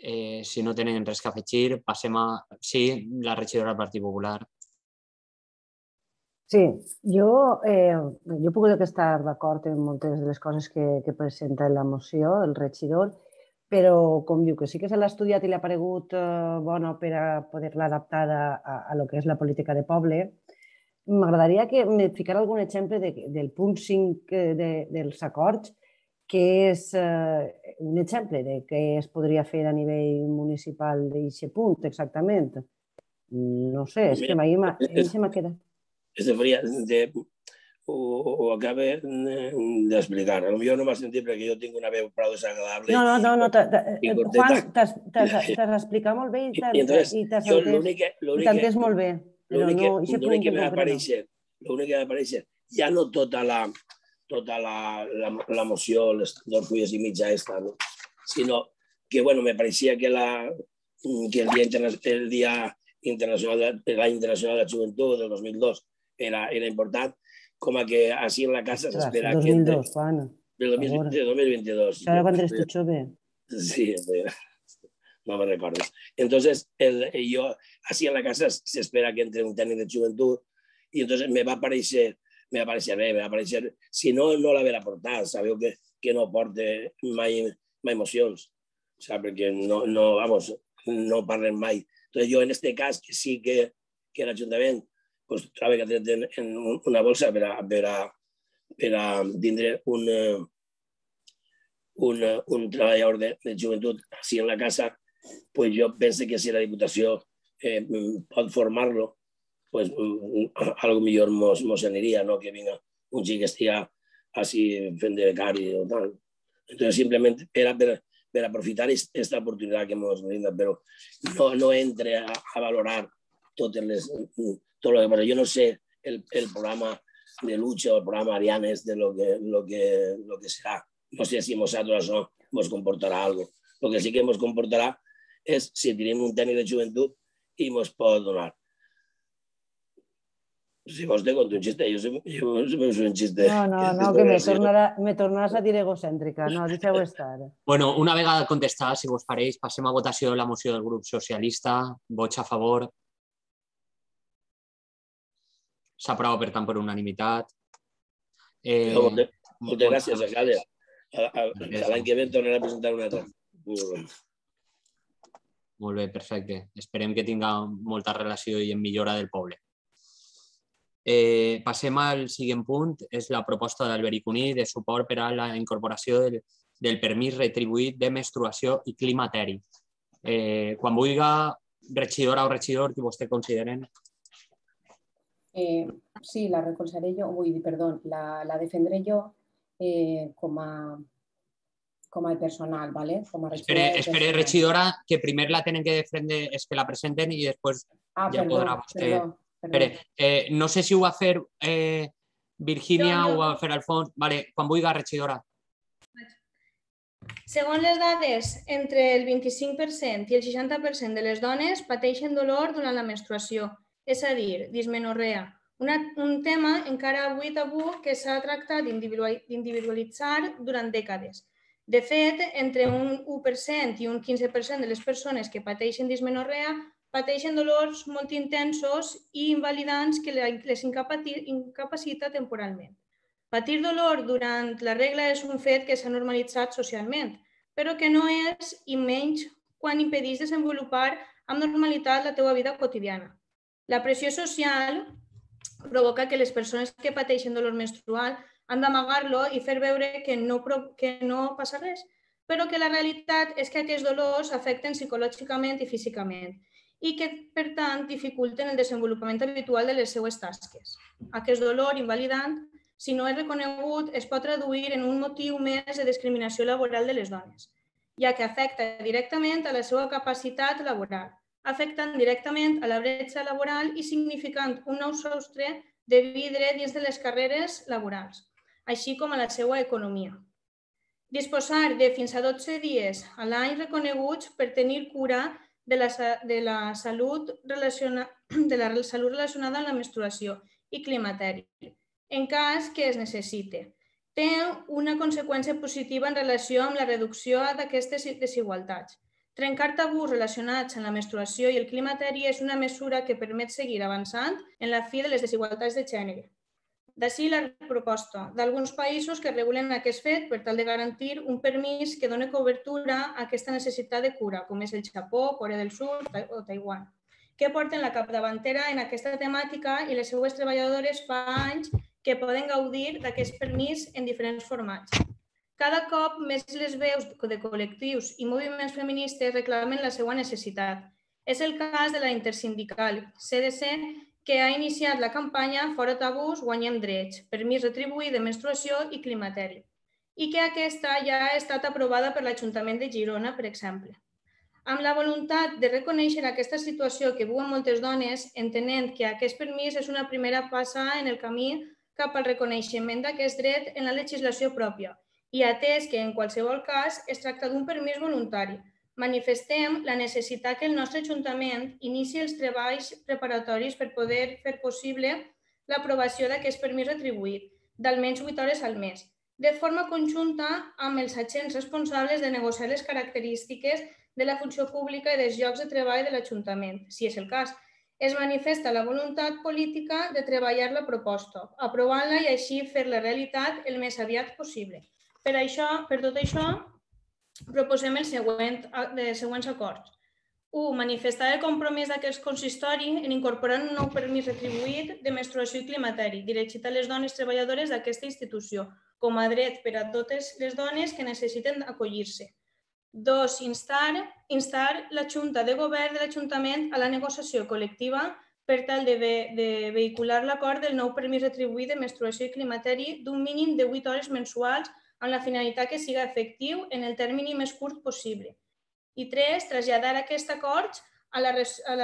Si no tenen res que afegir, passem a... Sí, la regidora del Partit Popular. Sí, jo puc estar d'acord en moltes de les coses que presenta la moció, el regidor, però com diu que sí que se l'ha estudiat i li ha paregut bona per a poder-la adaptar a lo que és la política de poble, m'agradaria que me ficara algun exemple del punt 5 dels acords, que és un exemple de què es podria fer a nivell municipal d'aquest punt, exactament. No sé, és que a mi se m'ha quedat. Ho acaba d'explicar. Potser no m'ha sentit perquè jo tinc una veu prou desagradable. No, Juan, t'has explicat molt bé i t'has entès molt bé. L'únic que m'ha apareixer, ja no tota la moció, les 2 fulles i mitja esta, sinó que, bueno, me pareixia que el Dia Internacional de la Joventut del 2002 era important, com a que així en la casa s'espera que... 2002, Juan. De 2022. Ara quan eres tu jove. Sí, no me recordes. Entonces, yo así en la casa se espera que entre un técnico de juventud y entonces me va a aparecer, si no, no la verà portar, sabeu que no porte mai emocions, perquè no parlen mai. Entonces, jo en este cas, que sí que l'Ajuntament troba que ha tret en una bolsa per a tindre un treballador de joventut així en la casa, pues jo penso que si la Diputació pot formar-lo, pues algo millor mos aniria, no que vinga un xic que estiga així fent de becari o tal. Entonces, simplement era per aprofitar aquesta oportunitat que mos brinda, però no entre a valorar tot el que passa. Jo no sé el programa de lucha o el programa Arianes de lo que serà. No sé si nosaltres això ens comportarà alguna cosa. El que sí que ens comportarà és si tenim un tècnic de joventut i ens pot donar. Si vos te conto un xiste, jo és un xiste... No, que me tornaràs a dir egocèntrica. No, deixeu estar. Bueno, una vegada contestada, si vos pareix, passem a votació de la moció del grup socialista. Vots a favor. S'aprova, per tant, per unanimitat. Moltes gràcies, alcalde. L'any que ve tornaré a presentar una altra. Molt bé, perfecte. Esperem que tinga molta relació i en millora del poble. Passem al següent punt, és la proposta d'Alberic Cuní de suport per a la incorporació del permís retribuït de menstruació i climateri. Quan vulgui, regidora o regidor, que vostè consideren. Sí, la recolzaré jo, la defendré jo com a personal, ¿vale? Com a Espere, regidora, que primer la tenen que defendre, és que la presenten i després ja podrà vostè... No sé si ho va fer Virgínia o ho va fer Alfons. Vale, quan vulgui, regidora. Segons les dades, entre el 25% i el 60% de les dones pateixen dolor durant la menstruació, és a dir, dismenorrea. Un tema encara avui tabú que s'ha tractat d'individualitzar durant dècades. De fet, entre un 1% i un 15% de les persones que pateixen dismenorrea pateixen dolors molt intensos i invalidants que les incapacita temporalment. Patir dolor durant la regla és un fet que s'ha normalitzat socialment, però que no és i menys quan impedeix desenvolupar amb normalitat la teva vida quotidiana. La pressió social provoca que les persones que pateixen dolor menstrual han d'amagar-lo i fer veure que no passa res, però que la realitat és que aquests dolors afecten psicològicament i físicament i que, per tant, dificulten el desenvolupament habitual de les seues tasques. Aquest dolor invalidant, si no és reconegut, es pot traduir en un motiu més de discriminació laboral de les dones, ja que afecta directament a la seva capacitat laboral, afectant directament a la bretxa laboral i significant un nou sostre de vidre dins de les carreres laborals, així com a la seva economia. Disposar de fins a 12 dies a l'any reconeguts per tenir cura de la salut relacionada amb la menstruació i climateri, en cas que es necessite. Té una conseqüència positiva en relació amb la reducció d'aquestes desigualtats. Trencar tabús relacionats amb la menstruació i el climateri és una mesura que permet seguir avançant en la fi de les desigualtats de gènere. D'ací la proposta d'alguns països que regulen aquest fet per tal de garantir un permís que doni cobertura a aquesta necessitat de cura, com és el Japó, Corea del Sud o Taiwan, que porten la capdavantera en aquesta temàtica i les seues treballadores fa anys que poden gaudir d'aquest permís en diferents formats. Cada cop més les veus de col·lectius i moviments feministes reclamen la seva necessitat. És el cas de la intersindical CDC, que ha iniciat la campanya Fora tabús, guanyem drets, permís retribuït de menstruació i climateri, i que aquesta ja ha estat aprovada per l'Ajuntament de Girona, per exemple. Amb la voluntat de reconèixer aquesta situació que viuen moltes dones, entenent que aquest permís és una primera passa en el camí cap al reconeixement d'aquest dret en la legislació pròpia, i atès que en qualsevol cas es tracta d'un permís voluntari, manifestem la necessitat que el nostre Ajuntament inici els treballs preparatoris per poder fer possible l'aprovació d'aquest permís retribuït, d'almenys 8 hores al mes, de forma conjunta amb els agents responsables de negociar les característiques de la funció pública i dels llocs de treball de l'Ajuntament, si és el cas. Es manifesta la voluntat política de treballar la proposta, aprovant-la i així fer-la realitat el més aviat possible. Per tot això, proposem els següents acords. 1. Manifestar el compromís d'aquest consistori en incorporar un nou permís retribuït de menstruació i climateri dirigit a les dones treballadores d'aquesta institució, com a dret per a totes les dones que necessiten acollir-se. 2. Instar la Junta de Govern de l'Ajuntament a la negociació col·lectiva per tal de vehicular l'acord del nou permís retribuït de menstruació i climateri d'un mínim de 8 hores mensuals amb la finalitat que siga efectiu en el termini més curt possible. I 3. Traslladar aquest acord a la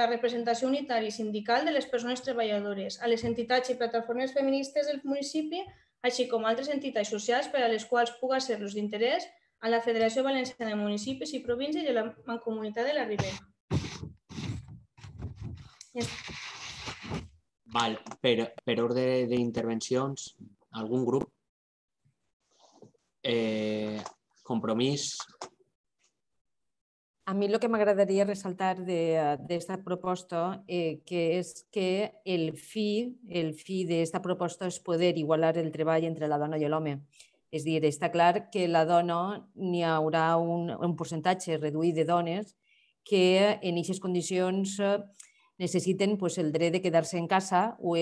representació unitària sindical de les persones treballadores, a les entitats i plataformes feministes del municipi, així com altres entitats socials per a les quals puga ser-los d'interès, a la Federació Valenciana de Municipis i Províncies i a la Mancomunitat de la Ribera. Per ordre d'intervencions, algun grup? Compromís. A mí lo que m'agradaria ressaltar d'esta proposta que és que el fi d'esta proposta és poder igualar el treball entre la dona i l'home. És a dir, està clar que la dona n'hi haurà un percentatge reduït de dones que en aquestes condicions necessiten el dret de quedar-se en casa o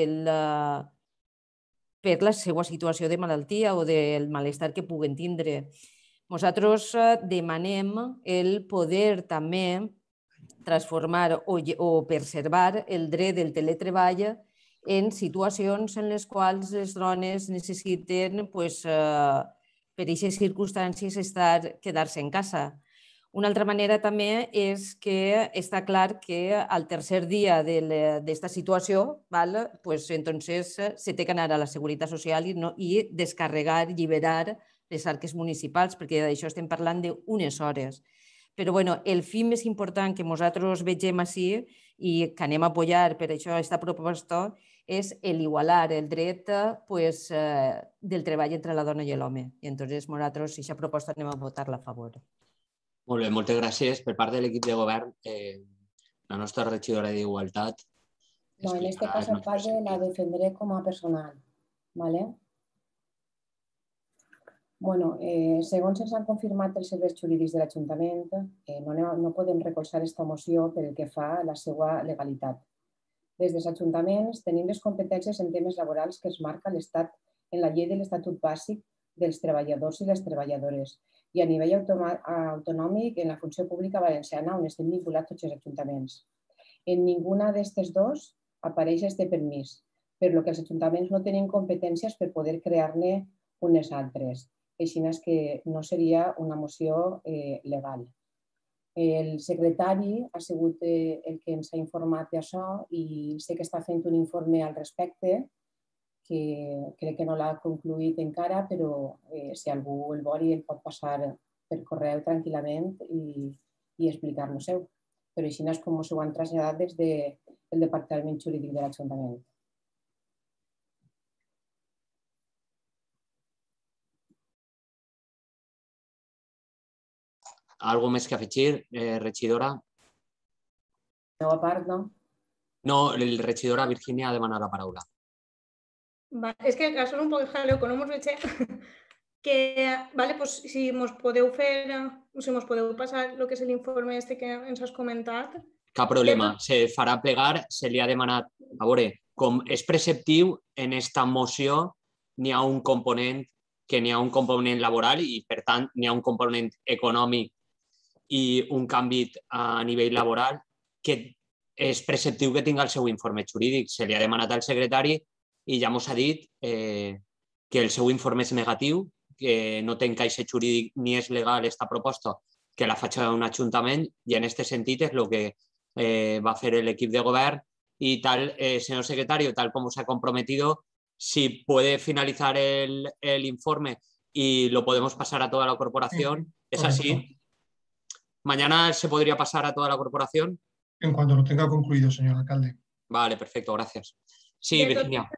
per la seva situació de malaltia o del malestar que puguen tindre. Nosaltres demanem el poder també transformar o preservar el dret del teletreball en situacions en les quals les dones necessiten, per aquestes circumstàncies, quedar-se en casa. Una altra manera també és que està clar que al tercer dia d'esta situació entonces se té que anar a la Seguretat Social i descarregar, alliberar les arques municipals, perquè d'això estem parlant d'unes hores. Però el fi més important que nosaltres vegem així i que anem a apoyar per això aquesta proposta és l'igualar el dret del treball entre la dona i l'home. I llavors nosaltres, aquesta proposta, anem a votar-la a favor. Molt bé, moltes gràcies. Per part de l'equip de govern, la nostra regidora d'Igualtat. No, en este cas, alcalde, la defendré com a personal. ¿Vale? Bueno, segons ens han confirmat els serveis jurídics de l'Ajuntament, no podem recolzar aquesta moció pel que fa a la seva legalitat. Des dels ajuntaments tenim les competències en temes laborals que es marca l'Estat en la llei de l'Estatut Bàsic dels treballadors i les treballadores i a nivell autonòmic en la funció pública valenciana on estem vinculats tots els ajuntaments. En ninguna d'aquestes dos apareix este permís, per lo que els ajuntaments no tenen competències per poder crear-ne unes altres. Així és que no seria una moció legal. El secretari ha sigut el que ens ha informat d'això i sé que està fent un informe al respecte, que crec que no l'ha concluït encara, però si algú el vol el pot passar per correu tranquil·lament i explicar-nos-ho. Però així és com s'ho han traslladat des del Departament Jurídic de l'Ajuntament. Algo més que afegir, regidora? No, a part, no. No, la regidora Virginia ha demanat la paraula. És que són un poc jaleo, que no ens veig que, si ens podeu passar el que és l'informe que ens has comentat. Cap problema, se farà plegar, se li ha demanat. A veure, com és preceptiu, en esta moció n'hi ha un component que n'hi ha un component laboral i, per tant, n'hi ha un component econòmic i un canvi a nivell laboral que és preceptiu que tingui el seu informe jurídic. Se li ha demanat al secretari i ja ens ha dit que el seu informe és negatiu, que no té encaix jurídic ni és legal aquesta proposta, que la faig a un ajuntament i en aquest sentit és el que va fer l'equip de govern y tal, señor secretario, tal como se ha comprometido, si puede finalizar el informe y lo podemos pasar a toda la corporación, ¿es así? ¿Mañana se podría pasar a toda la corporación? En cuanto lo tenga concluido, señor alcalde. Vale, perfecto, gracias. Sí, Virginia.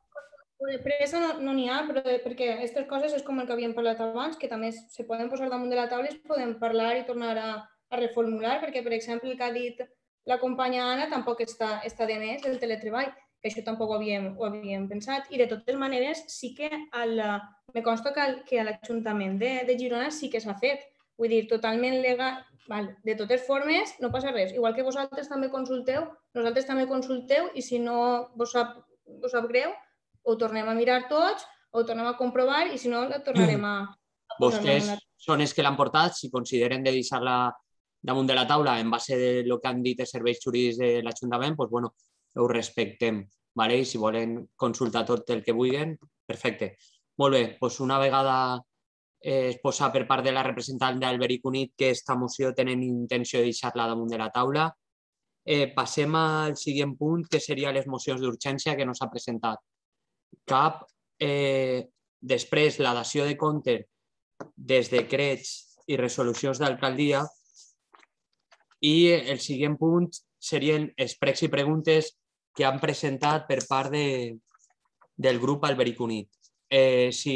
Pressa no n'hi ha, però perquè aquestes coses és com el que havíem parlat abans, que també se poden posar damunt de la taula i es poden parlar i tornar a reformular, perquè, per exemple, el que ha dit la companya Anna tampoc està de més, el teletreball, que això tampoc ho havíem pensat. I de totes maneres, sí que me consta que a l'Ajuntament de Girona sí que s'ha fet. Vull dir, totalment legal. De totes formes, no passa res. Igual que vosaltres també consulteu, nosaltres també consulteu i si no vos sap greu, ho tornem a mirar tots, ho tornem a comprovar i si no, la tornarem a... Vostès són els que l'han portat, si consideren de deixar-la damunt de la taula en base del que han dit els serveis jurídics de l'Ajuntament, doncs, bueno, ho respectem, i si volen consultar tot el que vulguin, perfecte. Molt bé, doncs una vegada es posa per part de la representant d'Alberic Unit que aquesta moció tenen intenció de deixar-la damunt de la taula, passem al següent punt, que serien les mocions d'urgència que no s'ha presentat cap. Després, la dació de compte dels decrets i resolucions d'alcaldia i el següent punt serien els pregs i preguntes que han presentat per part del grup Alberic Unit. Si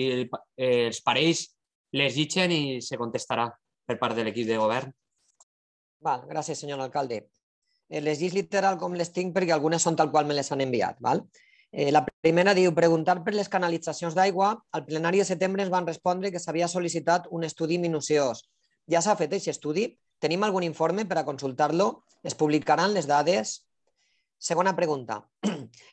els pareix, les llitgen i se contestarà per part de l'equip de govern. Val, gràcies, senyor alcalde. Les llis literal com les tinc perquè algunes són tal qual me les han enviat. Val? La primera diu, preguntar per les canalitzacions d'aigua. Al plenari de setembre ens van respondre que s'havia sol·licitat un estudi minuciós. Ja s'ha fet aquest estudi? Tenim algun informe per a consultar-lo? Es publicaran les dades? Segona pregunta.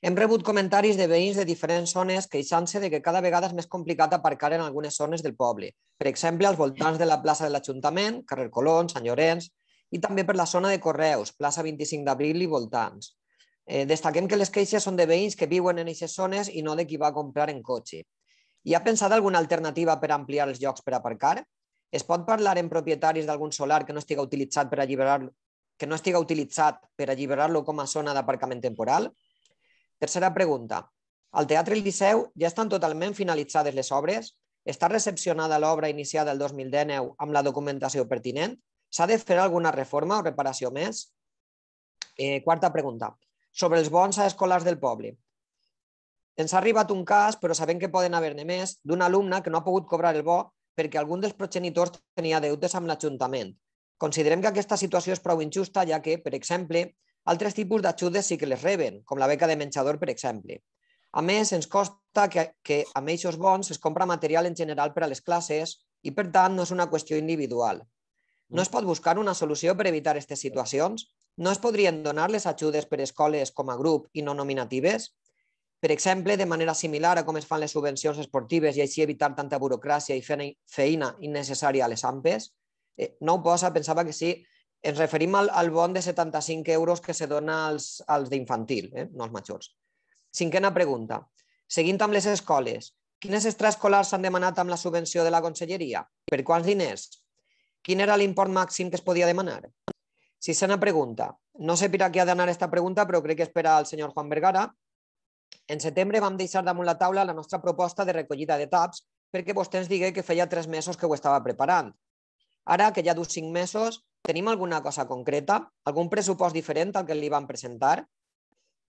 Hem rebut comentaris de veïns de diferents zones queixant-se de que cada vegada és més complicat aparcar en algunes zones del poble. Per exemple, als voltants de la plaça de l'Ajuntament, carrer Colón, Sant Llorenç, i també per la zona de Correus, plaça 25 d'abril i voltants. Destaquem que les queixes són de veïns que viuen en aquestes zones i no de qui va a comprar en cotxe. Hi ha pensat alguna alternativa per ampliar els llocs per aparcar? Es pot parlar amb propietaris d'algun solar que no estiga utilitzat per alliberar-lo com a zona d'aparcament temporal? Tercera pregunta. Al Teatre El Liceu ja estan totalment finalitzades les obres? Està recepcionada l'obra iniciada el 2019 amb la documentació pertinent? S'ha de fer alguna reforma o reparació més? Quarta pregunta. Sobre els bons a escolars del poble. Ens ha arribat un cas, però sabem que poden haver-ne més, d'un alumne que no ha pogut cobrar el bo perquè algun dels progenitors tenia deutes amb l'Ajuntament. Considerem que aquesta situació és prou injusta, ja que, per exemple, altres tipus d'ajudes sí que les reben, com la beca de menjador, per exemple. A més, ens consta que amb aquests bons es compra material en general per a les classes i, per tant, no és una qüestió individual. No es pot buscar una solució per evitar aquestes situacions? No es podrien donar les ajudes per escoles com a grup i no nominatives? Per exemple, de manera similar a com es fan les subvencions esportives i així evitar tanta burocràcia i feina innecessària a les AMPes? No ho posa, pensava que sí. Ens referim al bon de 75 euros que se dona als d'infantil, no als majors. Cinquena pregunta. Seguint amb les escoles, quines extraescolars s'han demanat amb la subvenció de la Conselleria? Per quants diners? Quin era l'import màxim que es podia demanar? Sisena pregunta. No sé per a què ha d'anar aquesta pregunta, però crec que és per al senyor Juan Vergara. En setembre vam deixar damunt la taula la nostra proposta de recollida de taps perquè vostè ens digué que feia 3 mesos que ho estava preparant. Ara, que ja du 5 mesos, tenim alguna cosa concreta? Algun pressupost diferent al que li van presentar?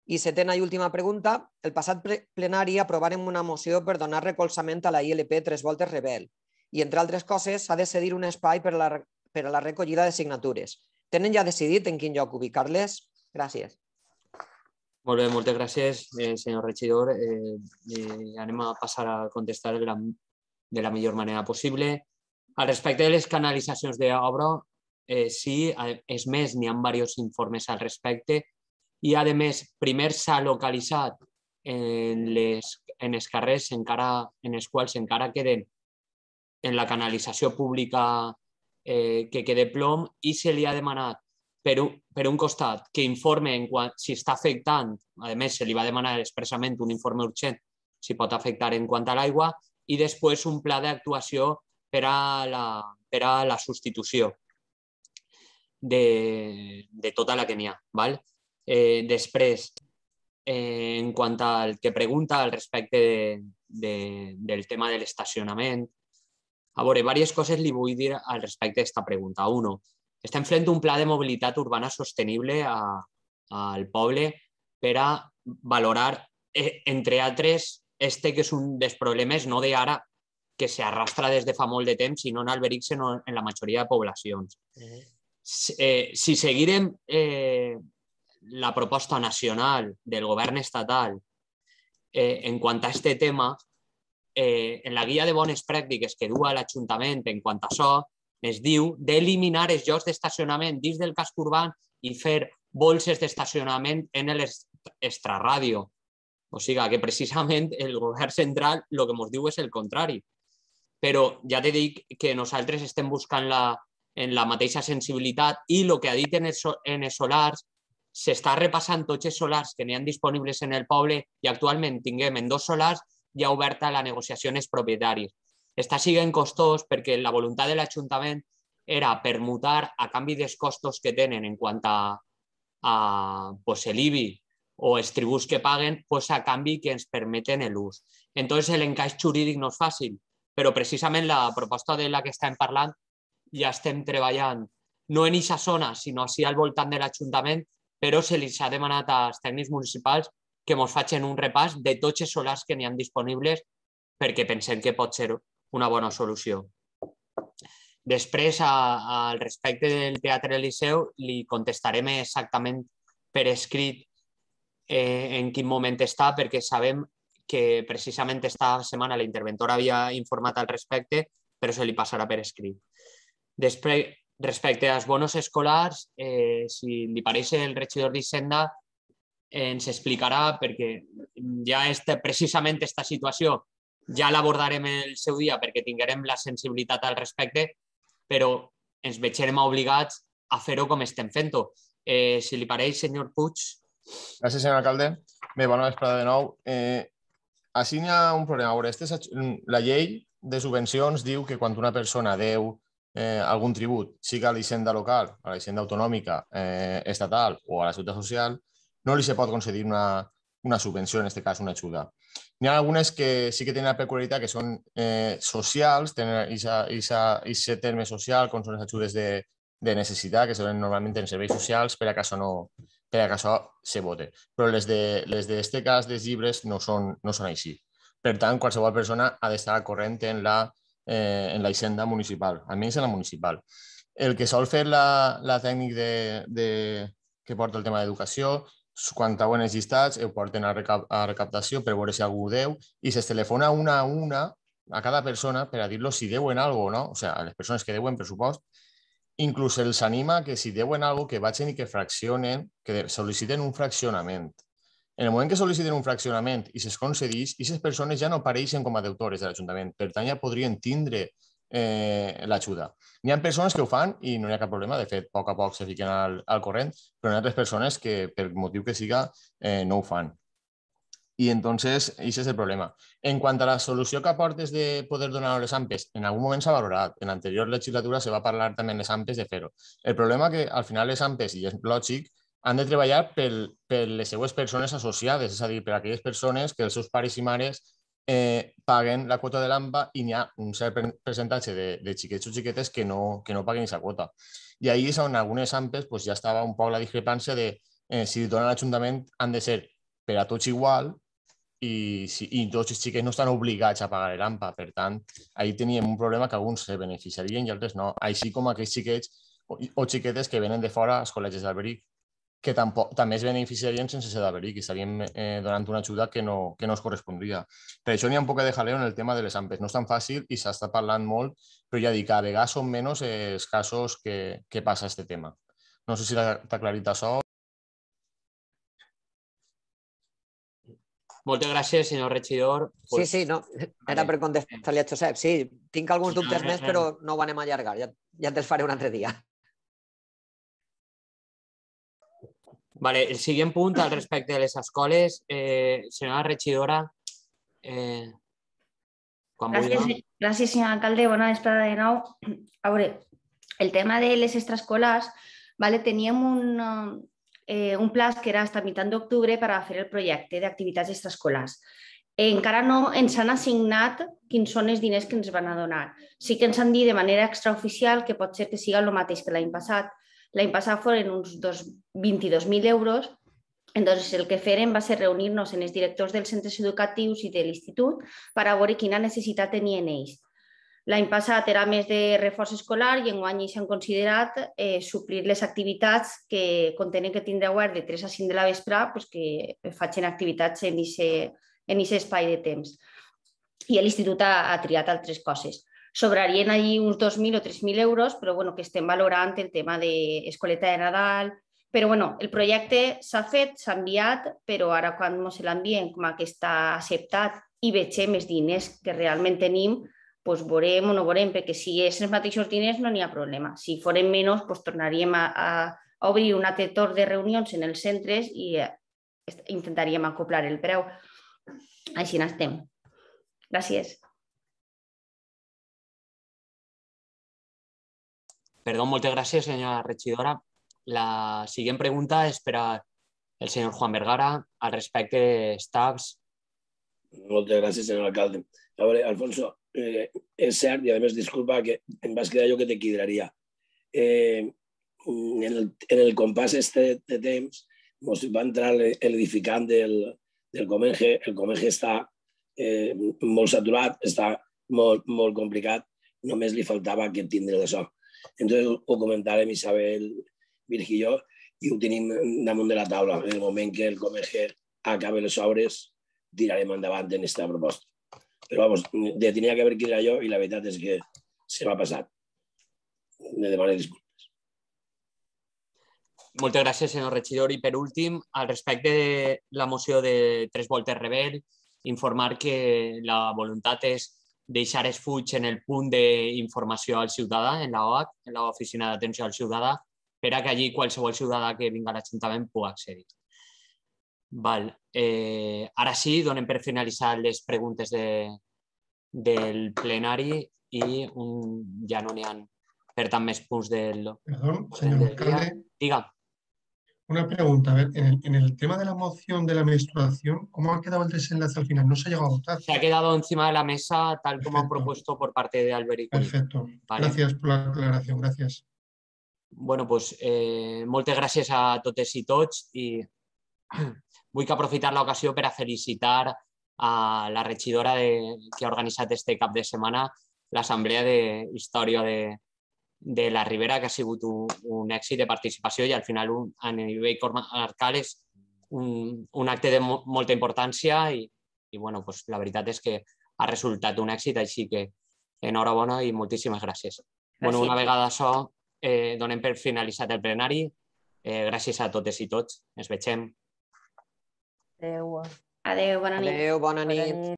I setena i última pregunta. El passat plenari aprovarem una moció per donar recolzament a la ILP 3 voltes Rebel i, entre altres coses, s'ha de cedir un espai per a la recollida de signatures. Tenen ja decidit en quin lloc ubicar-les? Gràcies. Molt bé, moltes gràcies, senyor regidor. Anem a passar a contestar de la millor manera possible. Al respecte de les canalitzacions d'obra, sí, és més, n'hi ha diversos informes al respecte i, a més, primer s'ha localitzat en els carrers en els quals encara queden en la canalització pública que quede plom i se li ha demanat per un costat que informe si està afectant, a més se li va demanar expressament un informe urgent si pot afectar en quant a l'aigua i després un pla d'actuació per a la substitució de tota la que n'hi ha. Després, en quant al que pregunta al respecte del tema de l'estacionament, a veure, diverses coses li vull dir al respecte d'aquesta pregunta. Uno, estem fent un pla de mobilitat urbana sostenible al poble per a valorar, entre altres, que és un dels problemes, no d'ara, que s'arrastra des de fa molt de temps, sinó en Alberic, sinó en la majoria de poblacions. Si seguirem la proposta nacional del govern estatal en quant a aquest tema, en la guia de bones pràctiques que du a l'Ajuntament en quant a això, es diu d'eliminar els llocs d'estacionament dins del casc urbà i fer bolses d'estacionament en l'extraràdio. O sigui que precisament el govern central el que ens diu és el contrari. Però ja t'he dit que nosaltres estem buscant en la mateixa sensibilitat i el que ha dit en els solars, s'està repassant tots els solars que n'hi ha disponibles en el poble i actualment tinguem en 2 solars ja oberta la negociació en els propietaris. Està sent costós perquè la voluntat de l'Ajuntament era permutar a canvi dels costos que tenen en quant a l'IBI o els tributs que paguen, a canvi que ens permeten l'ús. Entonces l'encaix jurídic no és fàcil, però precisament la proposta de la que estem parlant ja estem treballant no en aquesta zona, sinó així al voltant de l'Ajuntament, però se li ha demanat als tècnics municipals que ens facin un repàs de tots els solars que n'hi ha disponibles perquè pensem que pot ser una bona solució. Després, al respecte del Teatre Liceu, li contestarem exactament per escrit en quin moment està, perquè sabem que precisament esta setmana la interventora havia informat al respecte, però se li passarà per escrit. Després, respecte als bonos escolars, si li pareix el regidor d'Hisenda, ens explicarà, perquè ja precisament aquesta situació ja l'abordarem el seu dia perquè tinguem la sensibilitat al respecte, però ens veiem obligats a fer-ho com estem fent-ho. Si li pareix, senyor Puig. Gràcies, senyor alcalde. Bé, bona vesprada de nou. Així hi ha un problema. La llei de subvencions diu que quan una persona deu algun tribut, sigui a l'Hisenda local, a la Hisenda autonòmica, estatal o a la Seguretat Social, no li se pot concedir una subvenció, en aquest cas una ajuda. N'hi ha algunes que sí que tenen la peculiaritat que són socials, tenen aquest terme social, com són les ajudes de necessitat, que són normalment en serveis socials, per a que això se vote. Però les d'aquest cas dels llibres no són així. Per tant, qualsevol persona ha d'estar al corrent en la Hisenda municipal, almenys en la municipal. El que sol fer la tècnic que porta el tema d'educació, quan treuen els llistats, ho porten a recaptació per veure si algú deu i se'ls telefona una a una a cada persona per a dir-los si deuen alguna cosa o no. O sigui, a les persones que deuen pressupost, inclús els anima que si deuen alguna cosa que vagin i que fraccionen, que sol·liciten un fraccionament. En el moment que sol·liciten un fraccionament i se'ls concedeix, aquestes persones ja no apareixen com a deutores de l'Ajuntament, per tant ja podrien tindre l'ajuda. Hi ha persones que ho fan i no hi ha cap problema, de fet, a poc se fiquen al corrent, però hi ha altres persones que, per motiu que siga, no ho fan. I entonces, això és el problema. En quant a la solució que aportes de poder donar les AMPes, en algun moment s'ha valorat. En l'anterior legislatura se va parlar també en les AMPes de fer-ho. El problema que al final les AMPes, i és lògic, han de treballar per les seues persones associades, és a dir, per aquelles persones que els seus pares i mares paguen la quota de l'AMPA i n'hi ha un cert percentatge de xiquets o xiquetes que no paguen aquesta quota. I ahir és on algunes AMPes ja estava un poc la discrepància de si donen a l'Ajuntament han de ser per a tots igual i tots els xiquets no estan obligats a pagar l'AMPA. Per tant, ahir teníem un problema que alguns se beneficiarien i altres no. Així com aquells xiquets o xiquetes que venen de fora als col·legis d'Alberic, que també es beneficiarien sense ser d'Alberic i estaríem donant una ajuda que no es correspondria. Per això n'hi ha un poc de jaleo en el tema de les AMPes. No és tan fàcil i s'està parlant molt, però ja dic, a vegades són menys els casos que passa aquest tema. No sé si t'ha aclarit això. Moltes gràcies, senyor regidor. Sí, no, era per contestar-li a Josep. Sí, tinc alguns dubtes més, però no ho anem a allargar. Ja te'ls faré un altre dia. Vale, el següent punt al respecte de les escoles, senyora regidora, quan vulgui. Gràcies, senyor alcalde. Bona vesprada de nou. A veure, el tema de les extraescolars, teníem un pla que era hasta mitjan d'octubre per a fer el projecte d'activitats extraescolars. Encara no ens han assignat quins són els diners que ens van a donar. Sí que ens han dit de manera extraoficial que pot ser que siga el mateix que l'any passat. L'any passat foren uns 22.000 euros. Entonces, el que fèrem va ser reunir-nos amb els directors dels centres educatius i de l'institut per a veure quina necessitat tenien ells. L'any passat era més de reforç escolar i enguany s'han considerat suplir les activitats que contenen que tindrà obert de 3 a 5 de la vespre que facin activitats en aquest espai de temps. I l'institut ha triat altres coses. Sobrarien allí uns 2.000 o 3.000 euros, però que estem valorant el tema d'escoleta de Nadal. Però el projecte s'ha fet, s'ha enviat, però ara quan ens l'envien com que està acceptat i vegem els diners que realment tenim, veurem o no veurem, perquè si és els mateixos diners no n'hi ha problema. Si foren menys, tornaríem a obrir un altre torn de reunions en els centres i intentaríem acoplar el preu. Així n'estem. Gràcies. Perdó, moltes gràcies, senyora regidora. La següent pregunta és per al senyor Juan Vergara al respecte dels TAPs. Moltes gràcies, senyor alcalde. A veure, Alfonso, és cert, i a més, disculpa, que em vas quedar jo que te quidraria. En el compàs de temps va entrar l'edificant del Comenge. El Comenge està molt saturat, està molt complicat. només li faltava aquest tindre de so. Entonces ho comentàrem Isabel, Virgi i jo, i ho tenim damunt de la taula. En el moment que el Comerger acabe les obres, tirarem endavant en aquesta proposta. Però, vamos, tenia que haver que ir jo i la veritat és que se m'ha passat. Me demano disculpes. Moltes gràcies, senyor regidor. I per últim, al respecte de la moció de Tres Voltes Rebel, informar que la voluntat és deixar es fuig en el punt d'informació al ciutadà, en l'OAC, en l'Oficina d'Atenció al Ciutadà, per a que allí qualsevol ciutadà que vingui a l'Ajuntament pugui accedir. Ara sí, donem per finalitzar les preguntes del plenari i ja no n'hi ha, per tant, més punts del... Perdón, señor alcalde. Diga. Una pregunta, a ver, en el tema de la moción de la menstruación, ¿cómo ha quedado el desenlace al final? ¿No se ha llegado a votar? Se ha quedado encima de la mesa tal como han propuesto por parte de Alberic. Perfecto. Gracias por la aclaración, gracias. Bueno, pues moltes gràcies a totes i tots i vull aprofitar l'ocasió per a felicitar a la regidora que ha organitzat este cap de setmana l'Assemblea d'Història de la Ribera, que ha sigut un èxit de participació i al final a nivell comarcal és un acte de molta importància i la veritat és que ha resultat un èxit, així que enhorabona i moltíssimes gràcies. Una vegada això, donem per finalitzat el plenari. Gràcies a totes i tots. Ens vegem. Adéu. Adéu, bona nit. Adéu, bona nit.